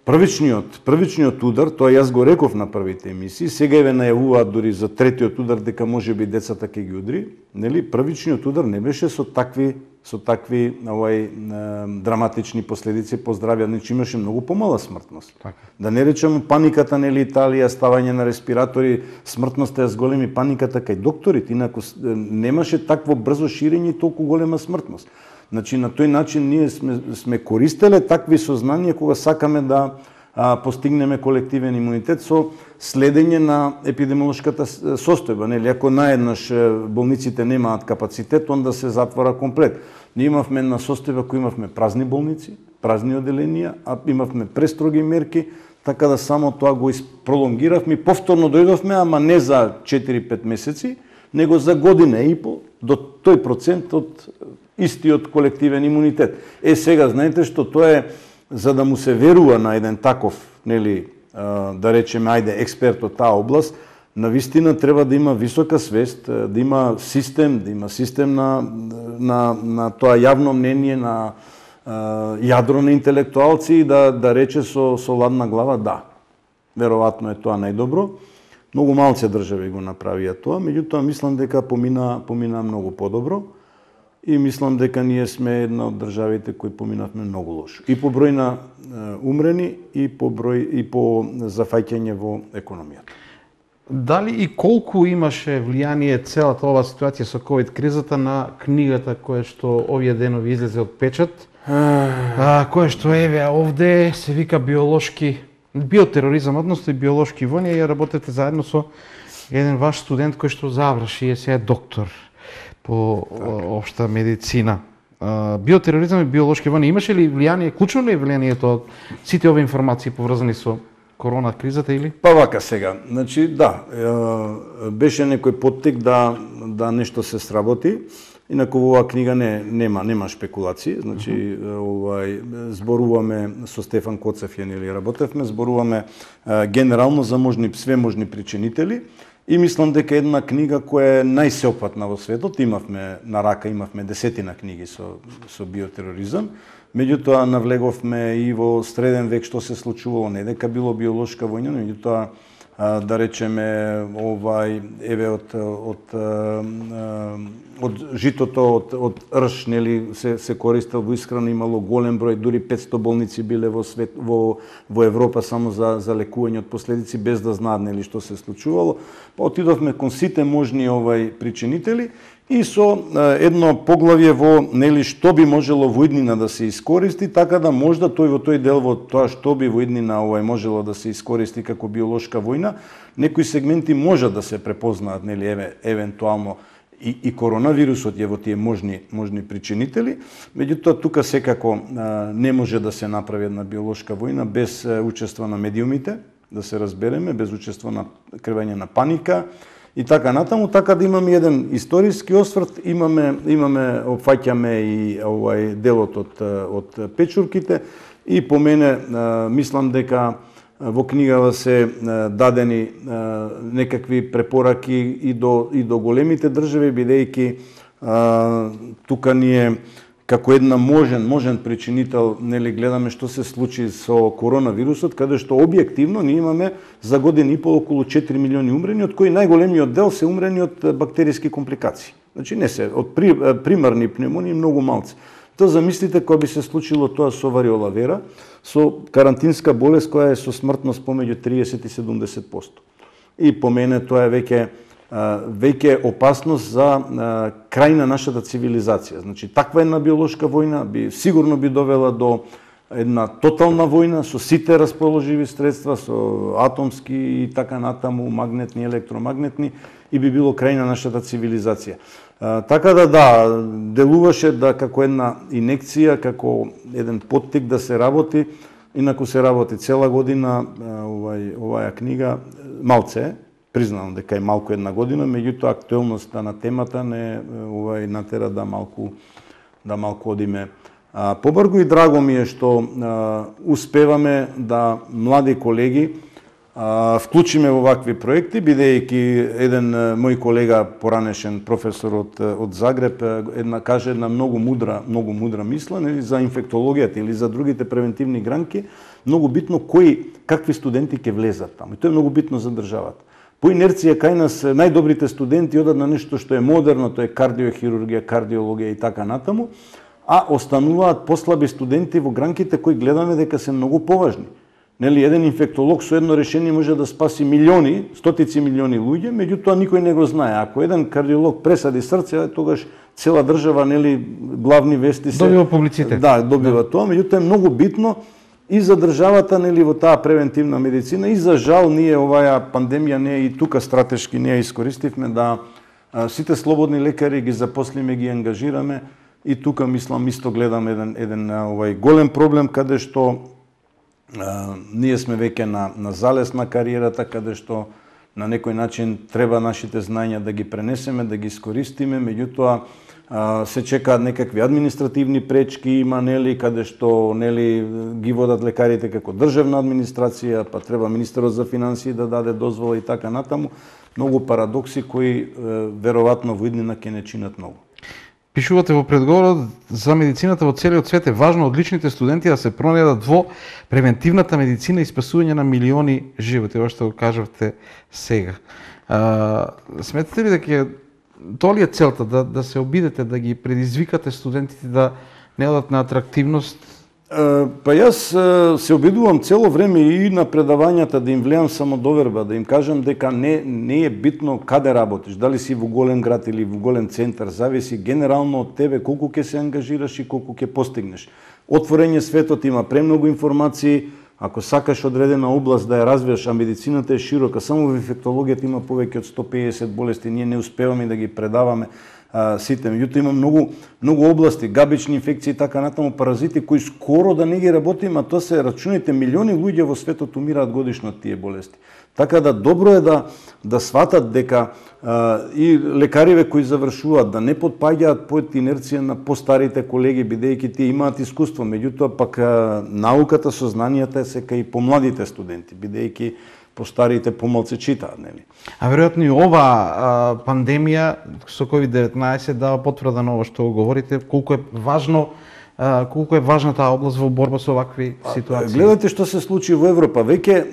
првичниот првичниот удар, тоа јас го реков на првите емисии, сега еве најавуваат дури за третиот удар дека можеби децата ќе ги удри, нели? Првичниот удар не беше со такви со такви овај драматични последици по здравје, значи имаше многу помала смртност. Така. Да не речеме паниката, нели, Италија, ставање на респиратори, смртноста е зголеми, паниката кај докторите, инаку немаше такво брзо ширење и толку голема смртност. Значи, на тој начин ние сме, сме користеле такви сознанија кога сакаме да а, постигнеме колективен имунитет со следење на епидемиолошката состојба. Нели, ако наеднаш болниците немаат капацитет, онда се затвора комплет. Ние имавме една состојба која имавме празни болници, празни оделенија, а имавме престроги мерки, така да само тоа го пролонгиравме и повторно дојдовме, ама не за четири-пет месеци, него за година и пол до тој процент од истиот колективен имунитет. Е, сега, знаете што, тоа е, за да му се верува на еден таков, нели, да речеме, ајде, експерт од таа област, навистина треба да има висока свест, да има систем, да има систем на, на, на тоа јавно мнение, на јадро на интелектуалци и да, да рече со, со ладна глава да. Веројатно е тоа најдобро. Многу малце држави го направија тоа, меѓутоа мислам дека помина, помина многу подобро. И мислам дека ние сме една од државите кои поминавме многу лошо. И по број на умрени, и по број и по зафаќање во економијата. Дали и колку имаше влијание целата ова ситуација со ковид кризата на книгата која што овие денови излезе од печат, а, која што еве овде се вика биолошки биотероризам, односно и биолошки војни, ја работите заедно со еден ваш студент кој што заврши, е сега доктор по општа медицина. Биотероризам и биолошки војни, имаше ли влијание, клучно ли е влијанието од сите овие информации поврзани со корона кризата или? Па вака сега, значи да, беше некој поттик да да нешто се сработи. Инаку во оваа книга не нема нема шпекулации, значи uh -huh. овај зборуваме со Стефан Коцев, ја нели работевме, зборуваме генерално за можни све можни причинители. И мислам дека една книга која е најсеопфатна во светот, имавме на рака, имавме десетина книги со, со биотероризам, меѓутоа навлеговме и во среден век што се случувало, не дека било биолошка војна, меѓутоа да речеме овај еве од од од житото од од рж, нели се се користел во исхрана, имало голем број, дури петсто болници биле во свет во во Европа само за за лекување од последици без да знаат нели што се случувало. Па отидовме кон сите можни овај причинители и со едно поглавје во нели што би можело во иднина да се искористи, така да можда тој во тој дел во тоа што би во иднина овај можело да се искористи како биолошка војна, некои сегменти може да се препознаат нели еве евентуално и, и коронавирусот е во тие можни можни причинители, меѓутоа тука секако а, не може да се направи една биолошка војна без а, учество на медиумите, да се разбереме, без учество на креање на паника и така натаму, така да имаме еден историски осврт, имаме имаме опфаќаме и овај делот од од печурките и по мене а, мислам дека во книгава се дадени некакви препораки и до и до големите држави, бидејќи тука ние како една можен можен причинител нели гледаме што се случи со коронавирусот, каде што објективно ние имаме за година и пол околу четири милиони умрени, од кои најголемиот дел се умрени од бактериски компликации. Значи не се од при, примарни пневмонии многу малци. Тоа замислите кога би се случило тоа со вариола вера, со карантинска болест која е со смртност помеѓу триесет и седумдесет проценти. И по мене тоа е веќе веќе опасност за крај на нашата цивилизација. Значи таква една биолошка војна би сигурно би довела до една тотална војна со сите расположиви средства, со атомски и така натаму, магнетни, електромагнетни, и би било крај на нашата цивилизација. А, така да да, делуваше да како една инекција, како еден поттик да се работи, инаку се работи цела година, овај оваа книга малце, признавам дека е малку една година, меѓутоа актуелноста на темата не ова натера да малку да малку одиме а, побрзо и драго ми е што а, успеваме да млади колеги а, вклучиме во вакви проекти, бидејќи еден мој колега поранешен професор од од Загреб една каже една многу мудра, многу мудра мисла, нели, за инфектологијата или за другите превентивни гранки, многу битно кои какви студенти ќе влезат таму. И тоа е многу битно за државата. По инерција кај нас најдобрите студенти одат на нешто што е модерно, тоа е кардиохирургија, кардиологија и така натаму, а остануваат послаби студенти во гранките кои гледаме дека се многу поважни. Нели, еден инфектолог со едно решение може да спаси милиони, стотици милиони луѓе, меѓутоа никој не го знае. Ако еден кардиолог пресади срце, тогаш цела држава, нели, главни вести се добива публицитет. Да, добива да. Тоа, меѓутоа е многу битно и за државата, нели, во таа превентивна медицина, и за жал ние оваа пандемија не и тука стратешки не ја искористивме да а, сите слободни лекари ги запослиме, ги ангажираме, и тука мислам исто гледам еден еден овај голем проблем каде што а, ние сме веќе на на залез на кариерата, каде што на некој начин треба нашите знања да ги пренесеме, да ги искористиме, меѓутоа се чекаат некакви административни пречки, има, нели, каде што, нели, ги водат лекарите како државна администрација, па треба министерот за финансии да даде дозвола и така натаму. Многу парадокси кои веројатно во иднина ќе не чинат многу. Пишувате во предговорот за медицината во целиот свет е важно одличните студенти да се пронајдат во превентивната медицина и спасување на милиони животи, ова што го кажавте сега. А, сметате ли дека тоа ли е целта, да, да се обидете, да ги предизвикате студентите да не одат на атрактивност? Uh, па јас uh, се обидувам цело време и на предавањата да им влеам самодоверба, да им кажам дека не, не е битно каде работиш, дали си во голем град или во голем центар, зависи генерално од тебе колку ќе се ангажираш и колку ќе постигнеш. Отворен е светот, има премногу информации, ако сакаш одредена област да ја развиеш, а медицината е широка, само во инфектологијата има повеќе од сто педесет болести, ние не успеваме да ги предаваме а, сите. Меѓутоа има многу многу области, габични инфекции и така натаму, паразити кои скоро да не ги работиме, а тоа се рачуните милиони луѓе во светот умираат годишно од тие болести. Така да добро е да да сватат дека а, и лекариве кои завршуваат да не потпаѓаат под инерција на постарите колеги, бидејќи тие имаат искуство, меѓутоа пак а, науката, сознанијата е сека и помладите студенти, бидејќи постарите помалку читаат, нели? А веројатно и ова а, пандемија со ковид деветнаесет дава потврда на ова што говорите, колку е важно а, колку е важна таа област во борба со овакви ситуации. Гледате што се случи во Европа, веќе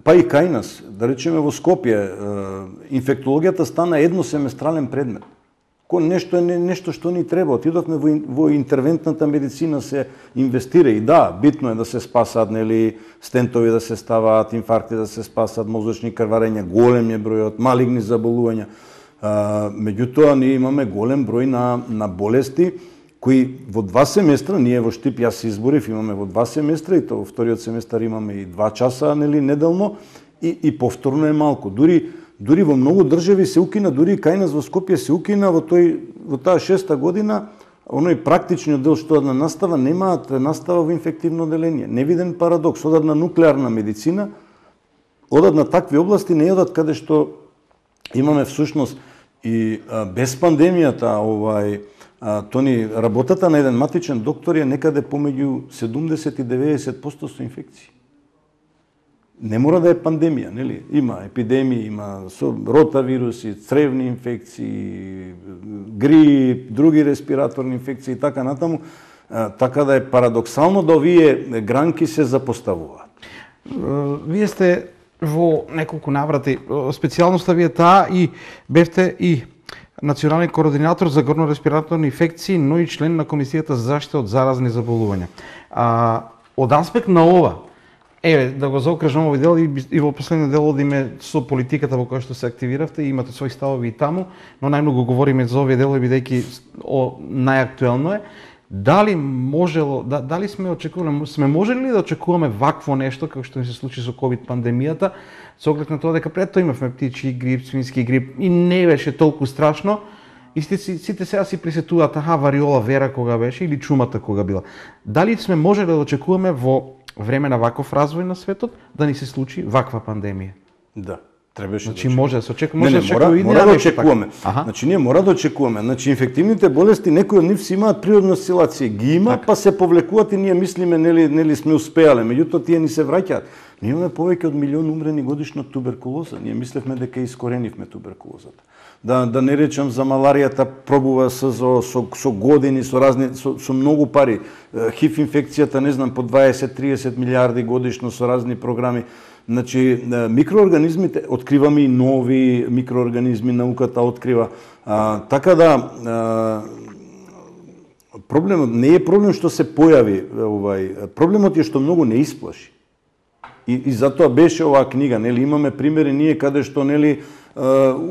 па и кај нас, да речеме во Скопје, инфектологијата стана едносеместрален предмет. Ко нешто е нешто што ни треба. Отидовме во, во интервентната медицина, се инвестира и да, битно е да се спасаат, нели, стентови да се ставаат, инфаркти да се спасаат, мозочни крварења, голем е бројот, малигни заболувања. А, меѓутоа ние имаме голем број на на болести кои во два семестра, ние во Штип, јас се изборив, имаме во два семестра и тоа во вториот семестар имаме и два часа, нели, неделно, и и повторно е малку. Дури Дури во многу држави се укина, дури кај нас во Скопје се укина во тој во таа шеста година, оној практичниот дел што одна настава, немаат настава во инфективно оделение. Невиден парадокс, одат на нуклеарна медицина, одат на такви области, не одат каде што имаме всушност и а, без пандемијата, овај а, тони работата на еден матичен доктор е некаде помеѓу седумдесет и деветдесет проценти со инфекции. Не мора да е пандемија, нели? Има епидемии, има со ротавируси, цревни инфекции, грип, други респираторни инфекции и така натаму. Така да е парадоксално да овие гранки се запоставуваат. Вие сте во неколку наврати, специјалноста ви е таа и бевте и национален координатор за горно-респираторни инфекции, но и член на Комисијата за заштита од заразни заболувања. А, од аспект на ова, еве, да го заокружам овој дел и, и во последниот дел одиме со политиката во која што се активиравте, имате своји ставови и таму, но најмногу говориме за овие делови бидејќи најактуелно е. Дали можело, да, дали сме очекувале, сме можели ли да очекуваме вакво нешто како што ни се случи со ковид пандемијата, со оглед на тоа дека пред тоа имавме птичи грип, свински грип и не беше толку страшно. И сите, сите сега си присетуваат, аха, вариола вера кога беше или чумата кога била. Дали сме можели да очекуваме во време на ваков развој на светот да ни се случи ваква пандемија? Да. Требаше значи да може да се очекува, може не, не, мора, мора да очекуваме. Значи ние мора да очекуваме. Значи инфективните болести некои од нив си имаат природна осцилација, ги има, так. Па се повлекуваат и ние мислиме нели нели сме успеале, меѓутоа тие ни се враќаат. Ние имаме повеќе од милион умрени годишно од туберкулоза. Ние мислевме дека искоренивме туберкулозата. Да да не речам за маларијата, пробува со со со години, со разни со, со многу пари. ХИВ инфекцијата, не знам, по дваесет до триесет милиарди годишно со разни програми. Значи, микроорганизмите, откриваме и нови микроорганизми, науката открива. А, така да, а, проблемот не е проблем што се појави, овај, проблемот е што многу не исплаши. И, и затоа беше оваа книга, нели, имаме примери ние каде што, нели,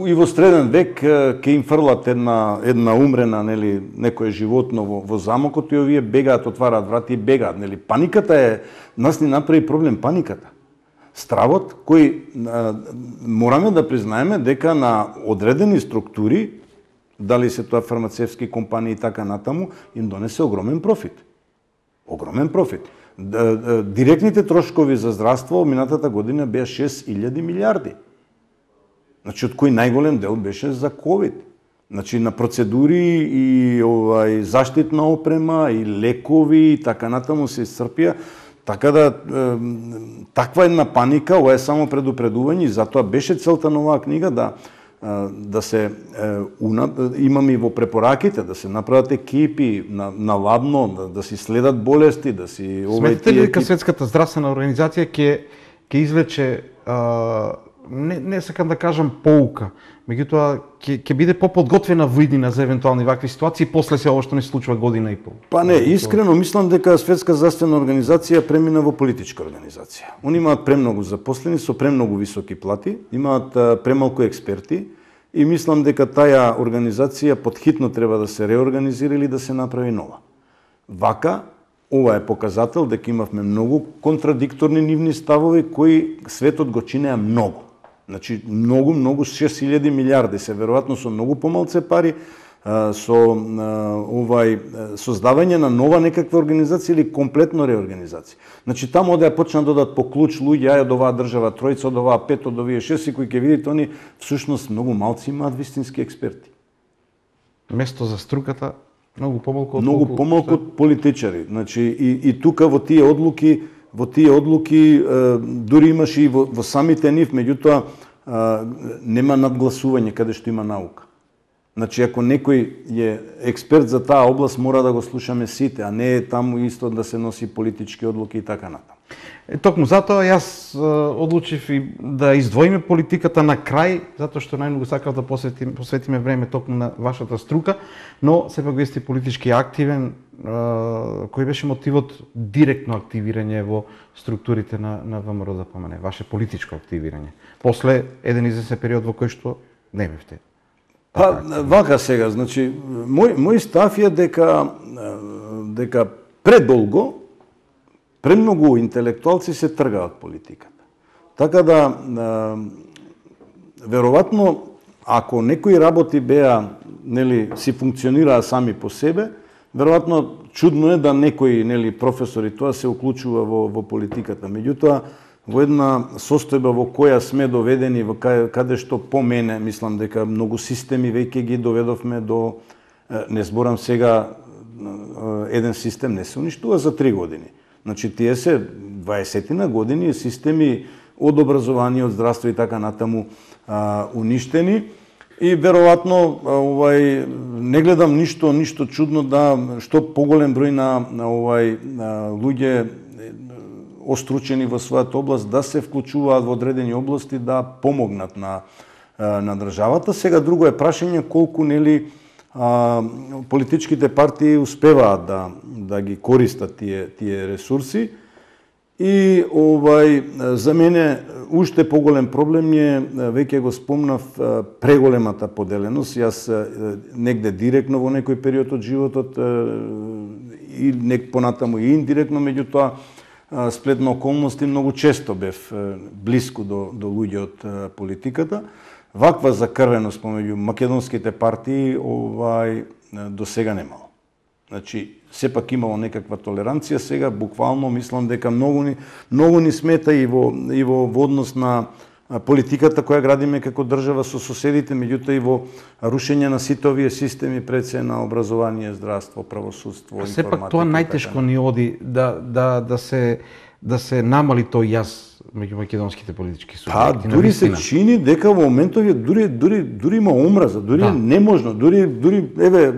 и во среден век ќе им фрлат една една умрена, нели, некое животно во, во замокот и овие бегаат, отвараат врати и бегаат, нели. Паниката е, нас ни направи проблем паниката. Стравот кој а, мораме да признаеме дека на одредени структури, дали се тоа фармацевски компании и така натаму, им донесе огромен профит. Огромен профит. Директните трошкови за здравство минатата година беа шест илјади милиарди. Значи, од кој најголем дел беше за ковид. Значи, на процедури и овај заштитна опрема и лекови и така натаму се исцрпија. Така да, таква една паника, ова е само предупредување, и затоа беше целта на оваа книга да да се имаме и во препораките да се направат екипи на, на лабно, да, да си следат болести, да си Сметате ли дека Светската здравствена организација ќе ќе извлече а, не не сакам да кажам поука, меѓутоа ќе ќе биде поподготвена во иднина за евентуални вакви ситуации после се ова што не се случува година и пол? Па не, искрено мислам дека Светска здравствена организација премина во политичка организација. Они имаат премногу запослени со премногу високи плати, имаат премалку експерти и мислам дека таа организација подхитно треба да се реорганизира или да се направи нова. Вака, ова е показател дека имавме многу контрадикторни нивни ставови кои светот го чинеа многу. Значи, многу, многу, шест илјади милиарди се, веројатно со многу помалце пари, со овај создавање на нова некаква организација или комплетно реорганизација. Значи, таму да ја почнат да дадат по клуч луѓе, ај од оваа држава тројца, од оваа пет, од овие шест, кои ќе видите, они всушност многу малци имаат вистински експерти. Место за струката многу помалку од многу помалку од политичари. Значи, и, и тука во тие одлуки во тие одлуки дури имаше и во, во самите нив, меѓутоа нема надгласување каде што има наука. Значи, ако некој е експерт за таа област, мора да го слушаме сите, а не е таму исто да се носи политички одлуки и така натаму. Е, токму затоа јас одлучив и да издвоиме политиката на крај, затоа што најмногу сакав да посветиме, посветиме време токму на вашата струка, но сепак вие сте политички активен. Кој беше мотивот директно активирање во структурите на, на ВМРО да помене, ваше политичко активирање, после еден известен период во кој што не бевте? Па, вака сега, значи, мој, мој став е дека, дека предолго, премногу интелектуалци се тргаат политиката. Така да, веројатно, ако некои работи беа, нели, си функционираа сами по себе, веројатно чудно е да некои, нели, професори тоа се уклучува во, во политиката. Меѓутоа, во една состојба во која сме доведени, во каде, каде што по мене, мислам дека многу системи веќе ги доведовме до, не зборам сега, еден систем не се уништува за три години. Значи, тие се дваесетина години системи од образование, од здравство и така натаму а, уништени. И веројатно овај не гледам ништо ништо чудно да што поголем број на, на овај на луѓе остручени во својата област да се вклучуваат во одредени области да помогнат на на државата. Сега друго е прашање колку нели а, политичките партии успеваат да да ги користат тие тие ресурси. И овај за мене уште поголем проблем е, веќе го спомнав, преголемата поделеност. Јас негде директно во некој период од животот и нек понатаму и индиректно, меѓутоа сплет на околности многу често бев блиску до до луѓе од политиката. Ваква закрвеност помеѓу македонските партии овај до сега немало. Значи, сепак имало некаква толеранција, сега буквално мислам дека многу ни, многу ни смета и во, и во, во однос на политиката која градиме како држава со соседите, меѓутоа и во рушење на сите овие системи, пред се на образование, здравство, правосудство, информатика. Сепак тоа најтешко ни оди да да да се да се намали тој јаз меѓу македонските политички субјекти. Па, дури се чини дека во моментов дури дури дури има омраза, дури да. неможно, дури дури еве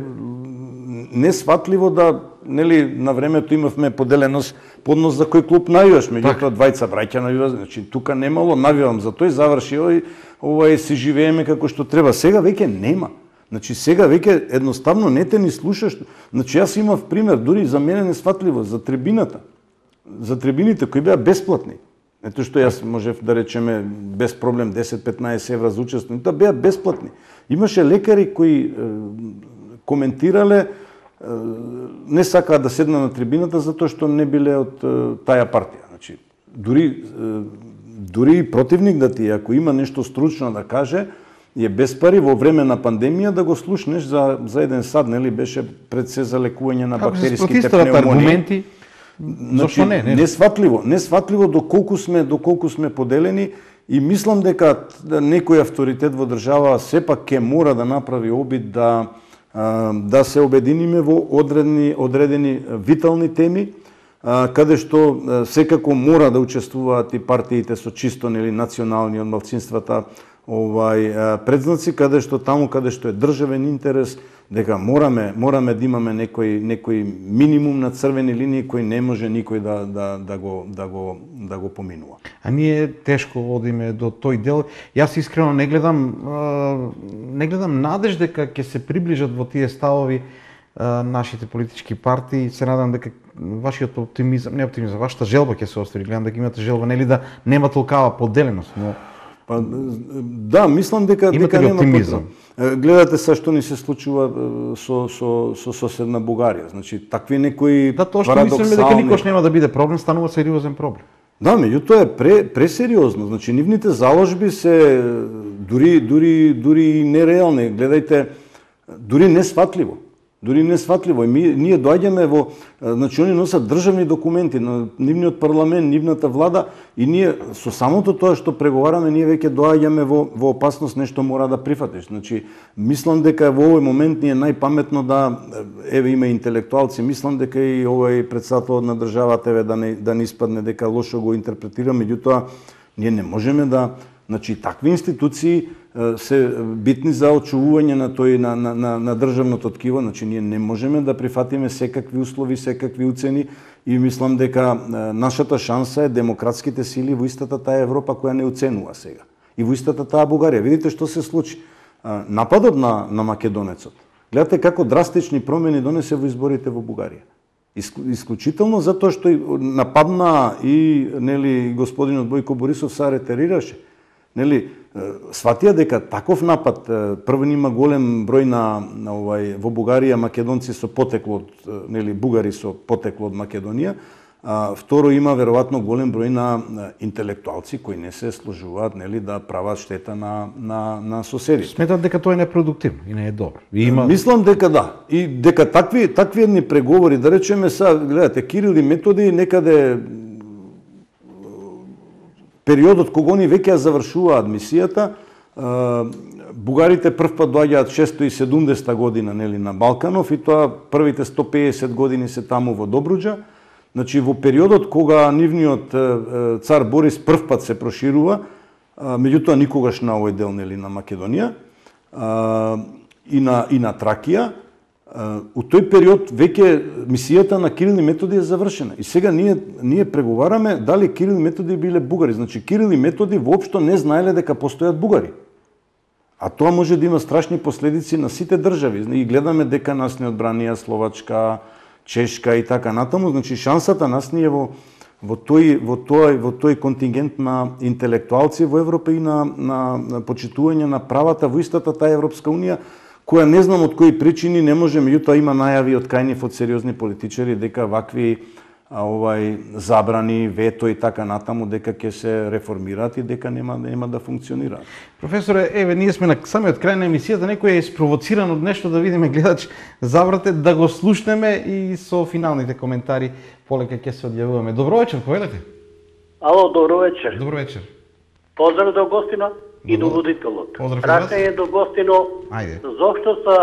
несватливо да, нели, на времето имавме поделеност поднос за кој клуб навиваш, меѓутоа двајца браќа навиваш, значи тука немало навивам за тој заврши овој, ова си живееме како што треба. Сега веќе нема. Значи сега веќе едноставно не те ни слушаш. Значи јас имав пример, дури за мене несватливо, за трибината. За трибините кои беа бесплатни. Ето што јас можев да речеме без проблем десет-петнаесет евра за учествување, тоа беа бесплатни. Имаше лекари кои е, коментирале, не сакаа да седна на трибината затоа што не биле од таја партија. Значи, дури дури противник да ти, ако има нешто стручно да каже, е без пари во време на пандемија да го слушнеш за за еден сад, нели, беше пред се за лекување на бактериските пневмонии. Значи, зошто не, не? Несватливо, несватливо доколку сме доколку сме поделени и мислам дека некој авторитет во држава сепак ќе мора да направи обид да да се обединиме во одредени, одредени витални теми, каде што секако мора да учествуваат и партиите со чисто, нели, национални од малцинствата овај предзнаци, каде што таму каде што е државен интерес, дека мораме мораме да имаме некој некој минимум на црвени линии кои не може никој да да да го да го да го поминува. А ние тешко одиме до тој дел. Јас искрено не гледам не гледам надеж дека ќе се приближат во тие ставови нашите политички партии. Се надам дека вашиот оптимизам, не оптимизам, вашата желба ќе се остари. Гледам дека имате желба, нели, да нема толкава поделеност, но па да, мислам дека дека нема оптимизам. Гледате се што ни се случува со со со соседна Бугарија. Значи такви некои да, тоа што мислиме дека никош нема да биде проблем, станува сериозен проблем. Да, меѓутоа е пре пресериозно. Значи нивните заложби се дури дури дури нереални. Гледајте, дури несватливо. Дури несватливо. И ми, ние доаѓаме во, значи они носат државни документи на нивниот парламент, нивната влада и ние со самото тоа што преговараме, ние веќе доаѓаме во во опасност нешто мора да прифатиш. Значи мислам дека во овој момент ни е најпаметно да еве има интелектуалци, мислам дека и овој претседател на државата еве да не да не испадне дека лошо го интерпретира, меѓутоа ние не можеме да, значи такви институции се битни за очувување на тој на, на, на, на државното ткиво, значи ние не можеме да прифатиме секакви услови, секакви уцени и мислам дека нашата шанса е демократските сили во истата таа Европа која не оценува сега. И во истата таа Бугарија. Видите што се случи. Нападот на на македонецот. Гледате како драстични промени донесе во изборите во Бугарија. Исклучително затоа што нападна и нели господинот Бојко Борисов се ретерираше. Нели, сватија дека таков напад, прво има голем број на, на овај во Бугарија македонци со потекло од, нели, бугари со потекло од Македонија, а, второ има веројатно голем број на, на интелектуалци кои не се служуваат, нели, да прават штета на на на соседите. Сметат дека тоа е непродуктивно и не е добро. И има... Мислам дека да. И дека такви такви едни преговори, да речеме са, гледате, Кирил и Методи некаде периодот кога они веќе ја завршуваат мисијата, бугарите првпат доаѓаат шестоста и седумдесета година, нели, на Балканов и тоа првите сто пеесет години се таму во Добруџа. Значи во периодот кога нивниот цар Борис првпат се проширува, меѓутоа никогаш на овој дел, нели, на Македонија и на и на Тракија, у тој период веќе мисијата на Кирил и Методи е завршена. И сега ние ние преговараме дали Кирил и Методи биле бугари. Значи Кирил и Методи воопшто не знаеле дека постојат бугари. А тоа може да има страшни последици на сите држави. И гледаме дека нас не одбранија Словачка, Чешка и така натаму. Значи шансата нас ни е во во тој во тој во тој контингент на интелектуалци во Европа и на на, на почитување на правата во истата таа Европска унија, која не знам од кои причини не може, меѓутоа има најави од кајнив од сериозни политичари дека вакви а, овај забрани, вето и така натаму дека ќе се реформираат и дека нема нема да функционираат. Професоре, еве ние сме на самиот крај на емисијата, некој е спровоциран од нешто, да видиме гледач, забрате да го слушнеме и со финалните коментари полека ќе се одјавуваме. Добро вечер, повелете. Ало, добро вечер. Добро вечер. Поздрав до гостино и до водителот. Прашање до гостино, зошто са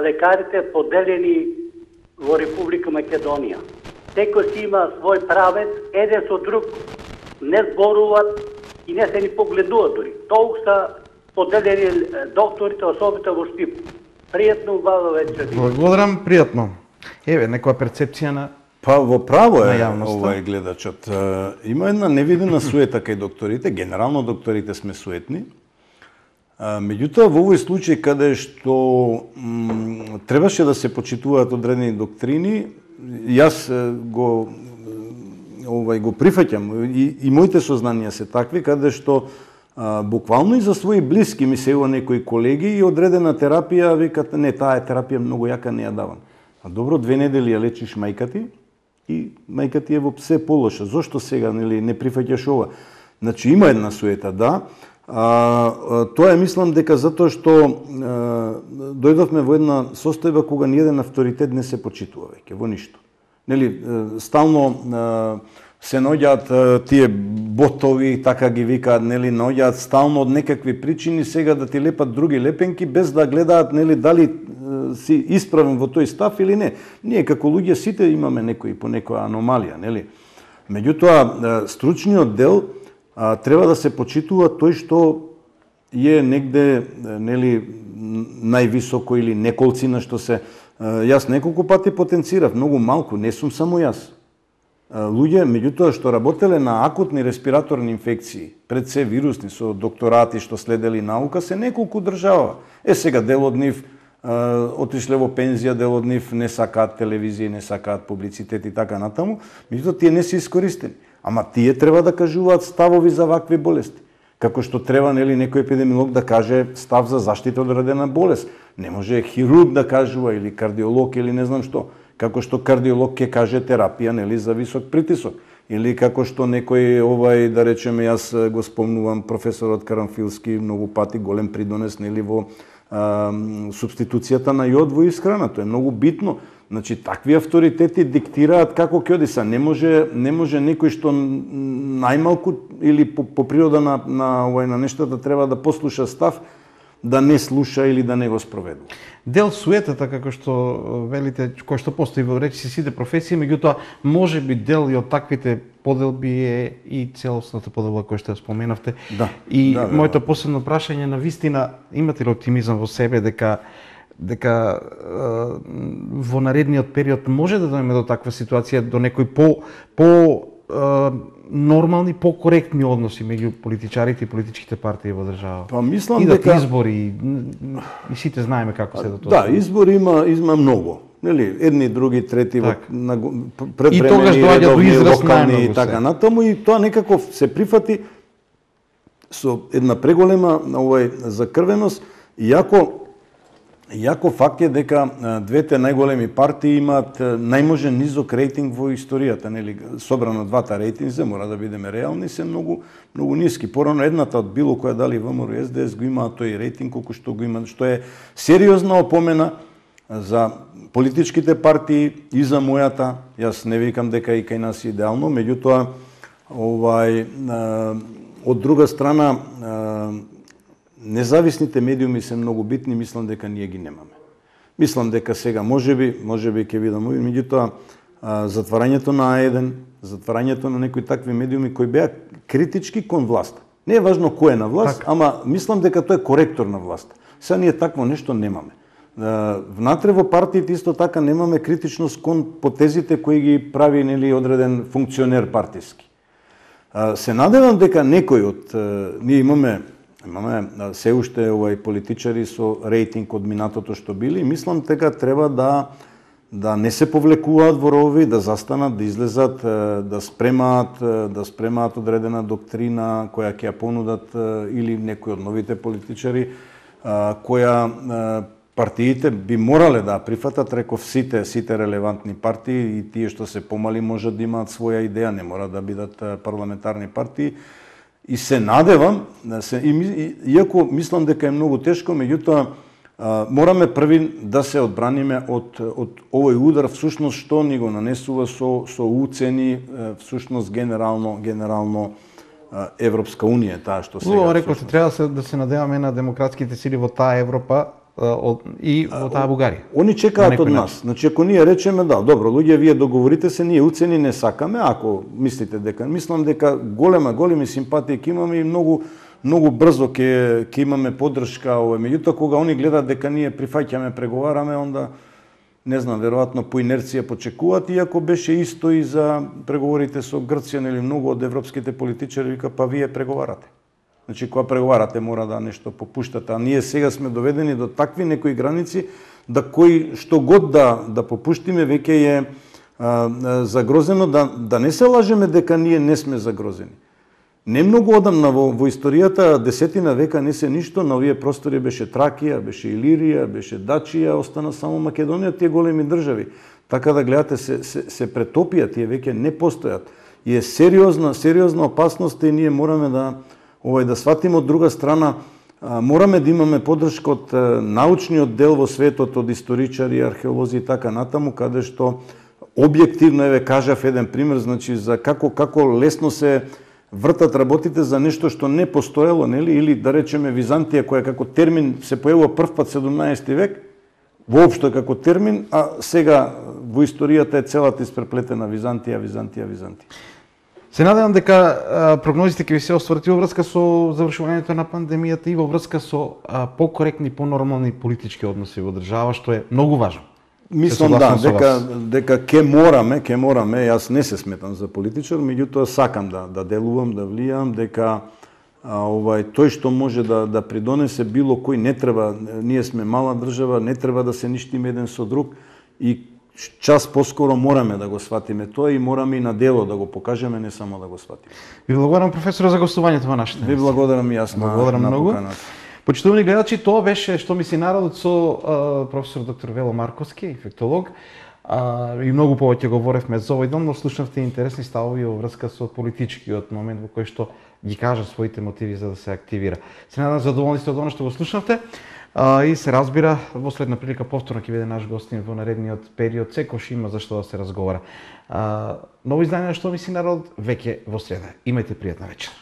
лекарите поделени во Република Македонија? Секој си има свој правец, еден со друг не зборуваат и не се ни погледуваат дори. Толку са поделени докторите, особено во Штип. Пријатно, убава вечер. Благодарам, пријатно. Еве, некоја перцепција на Па во право е овај гледачот. Има една невидена суета кај докторите, генерално докторите сме суетни. Меѓутоа, во овој случај каде што м, требаше да се почитуваат одредени доктрини, јас го овај го прифаќам и, и моите сознанија се такви каде што а, буквално и за своји блиски ми се јава некои колеги и одредена терапија викат не, таа терапија многу јака, не ја давам. А добро, две недели ја лечиш мајка ти и мајка ти е во се полоша. Зошто сега нели не прифаќаш ова? Значи има една суета, да. А, тоа е, мислам дека затоа што а, дојдовме во една состојба кога ниеден авторитет не се почитува веќе во ништо. Нели стално а, се наоѓаат тие ботови, така ги викаат, нели наоѓаат стално од некакви причини сега да ти лепат други лепенки без да гледаат нели дали си исправен во тој став или не. Ние како луѓе сите имаме некои по некоја аномалија, нели? Меѓутоа стручниот дел а, треба да се почитува тој што е негде нели највисоко или неколцина што се а, јас неколку пати потенцирав, многу малку, не сум само јас. А, луѓе меѓутоа што работеле на акутни респираторни инфекции, пред се вирусни со докторати што следели наука, се неколку држава. Е сега дел од нив отишле во пензија, дел од нив не сакаат телевизија, не сакаат публицитет и така натаму, меѓутоа тие не се искористени. Ама тие треба да кажуваат ставови за вакви болести. Како што треба нели некој епидемиолог да каже став за заштита од одредена болест. Не може хирург да кажува или кардиолог или не знам што. Како што кардиолог ќе каже терапија нели за висок притисок. Или како што некој овај, да речеме, јас го спомнувам професорот Карамфилски многу пати голем придонес нели во а, субституцијата на јод во исхрана. Тоа е многу битно. Значи такви авторитети диктираат како ќе оди са. Не може не може некој што најмалку или по, по природа на на овај на нештата треба да послуша став, да не слуша или да не го спроведува. Дел суетата, како што велите, кој што постои во речиси сите професии, меѓутоа може би дел и од таквите поделби е и целосната поделба која што ја споменавте. Да, и да, моето последно прашање на вистина, имате ли оптимизам во себе дека дека е, во наредниот период може да дојдеме до таква ситуација, до некои по по е, нормални, покоректни односи меѓу политичарите и политичките партии во држава? Па мислам Идат дека избори и, и сите знаеме како се до тоа. Да, избори има има многу. Нели, едни, други, трети, так. на и тогаш доаѓа до израз локални и така натаму и тоа некако се прифати со една преголема овај закрвеност, иако Иако факт е дека двете најголеми партии имаат најможен низок рейтинг во историјата, нели, собрано двата рейтинзи, мора да бидеме реални, се многу многу ниски. Порано едната од било која дали ВМРО и Ес Де Ес го имаат тој рейтинг колку што го има, што е сериозна опомена за политичките партии и за мојата. Јас не викам дека и кај нас е идеално, меѓутоа овај од друга страна независните медиуми се многу битни, мислам дека ние ги немаме. Мислам дека сега можеби, можеби ќе видам, меѓутоа затварањето на А еден, затварањето на некои такви медиуми кои беа критички кон власта. Не е важно кој е на власт, так. Ама мислам дека тоа е коректор на власт. Сега ние такво нешто немаме. Внатре во партиите исто така немаме критичност кон потезите кои ги прави нели одреден функционер партиски. Се надевам дека некој од ние имаме Имаме се уште овај политичари со рейтинг од минатото што били, мислам дека треба да да не се повлекуваат во рови, да застанат, да излезат, да спремаат, да спремаат одредена доктрина која ќе ја понудат или некои од новите политичари која партиите би морале да прифатат, реков сите сите релевантни партии и тие што се помали можат да имаат своја идеја, не мора да бидат парламентарни партии. И се надевам, се, и, иако мислам дека е многу тешко, меѓутоа мораме први да се одбраниме од, од овој удар, всушност што ни го нанесува со, со уцени, всушност генерално, генерално Европска унија, таа што сега. Убаво рекоте, треба да се надеваме на демократските сили во таа Европа и во таа Бугарија. Они чекаат од нас. Значи, ако ние речеме, да, добро, луѓе, вие договорите се, ние уцени не сакаме, ако мислите дека, мислам дека голема, големи симпатии ќе имаме и многу многу брзо ќе ќе имаме поддршка, ова. Меѓутоа, кога они гледаат дека ние прифаќаме, преговараме, онда не знам, веројатно по инерција почекуваат, иако беше исто и за преговорите со Грција, нели многу од европските политичари вика, па вие преговарате. Значи, кога преговарате, мора да нешто попуштате, а ние сега сме доведени до такви некои граници, да кој што год да да попуштиме веќе е а, загрозено, да да не се лажеме дека ние не сме загрозени. Не многу одамна во, во историјата, десетина века не се ништо, на овие простори беше Тракија, беше Илирија, беше Дачија, остана само Македонија, тие големи држави. Така да гледате, се, се, се претопија, тие веќе не постојат. И е сериозна, сериозна опасност и ние мораме да овај да сватиме. Од друга страна, а, мораме да имаме поддршка од а, научниот дел во светот, од историчари, археолози и така натаму, каде што објективно, еве кажав еден пример, значи за како како лесно се вртат работите за нешто што не постоело, нели, или да речеме Византија, која како термин се појавува првпат седумнаесети век, воопшто како термин, а сега во историјата е целата испреплетена Византија, Византија, Византија. Се надевам дека прогнозите ќе ви се остварат во врска со завршувањето на пандемијата и во врска со покоректни, понормални политички односи во држава, што е многу важно. Мислам да, дека дека ќе мораме, ќе мораме, јас не се сметам за политичар, меѓутоа сакам да да делувам, да влијам, дека а, овај тој што може да да придонесе било кој не треба, ние сме мала држава, не треба да се ништиме еден со друг и час поскоро мораме да го сватиме тоа и мораме и на дело да го покажеме, не само да го сватиме. Ви благодарам, професор, за гостувањето во нашата емисија. Ви благодарам и јас на, благодарам на многу. поканата. Почитувани гледачи, тоа беше Што мисли народот со а, професор доктор Вело Марковски, инфектолог. А, и многу повеќе говоревме за овој дом, но слушнавте интересни ставови во врска со политичкиот момент во кој што ги кажа своите мотиви за да се активира. Се надам задоволни сте од она што го слушнавте. А, и се разбира, во следна прилика повторно ќе биде наш гостин во наредниот период, секош има за што да се разговара. А, ново издание на Што мисли народот веќе во среда. Имајте пријатна вечер.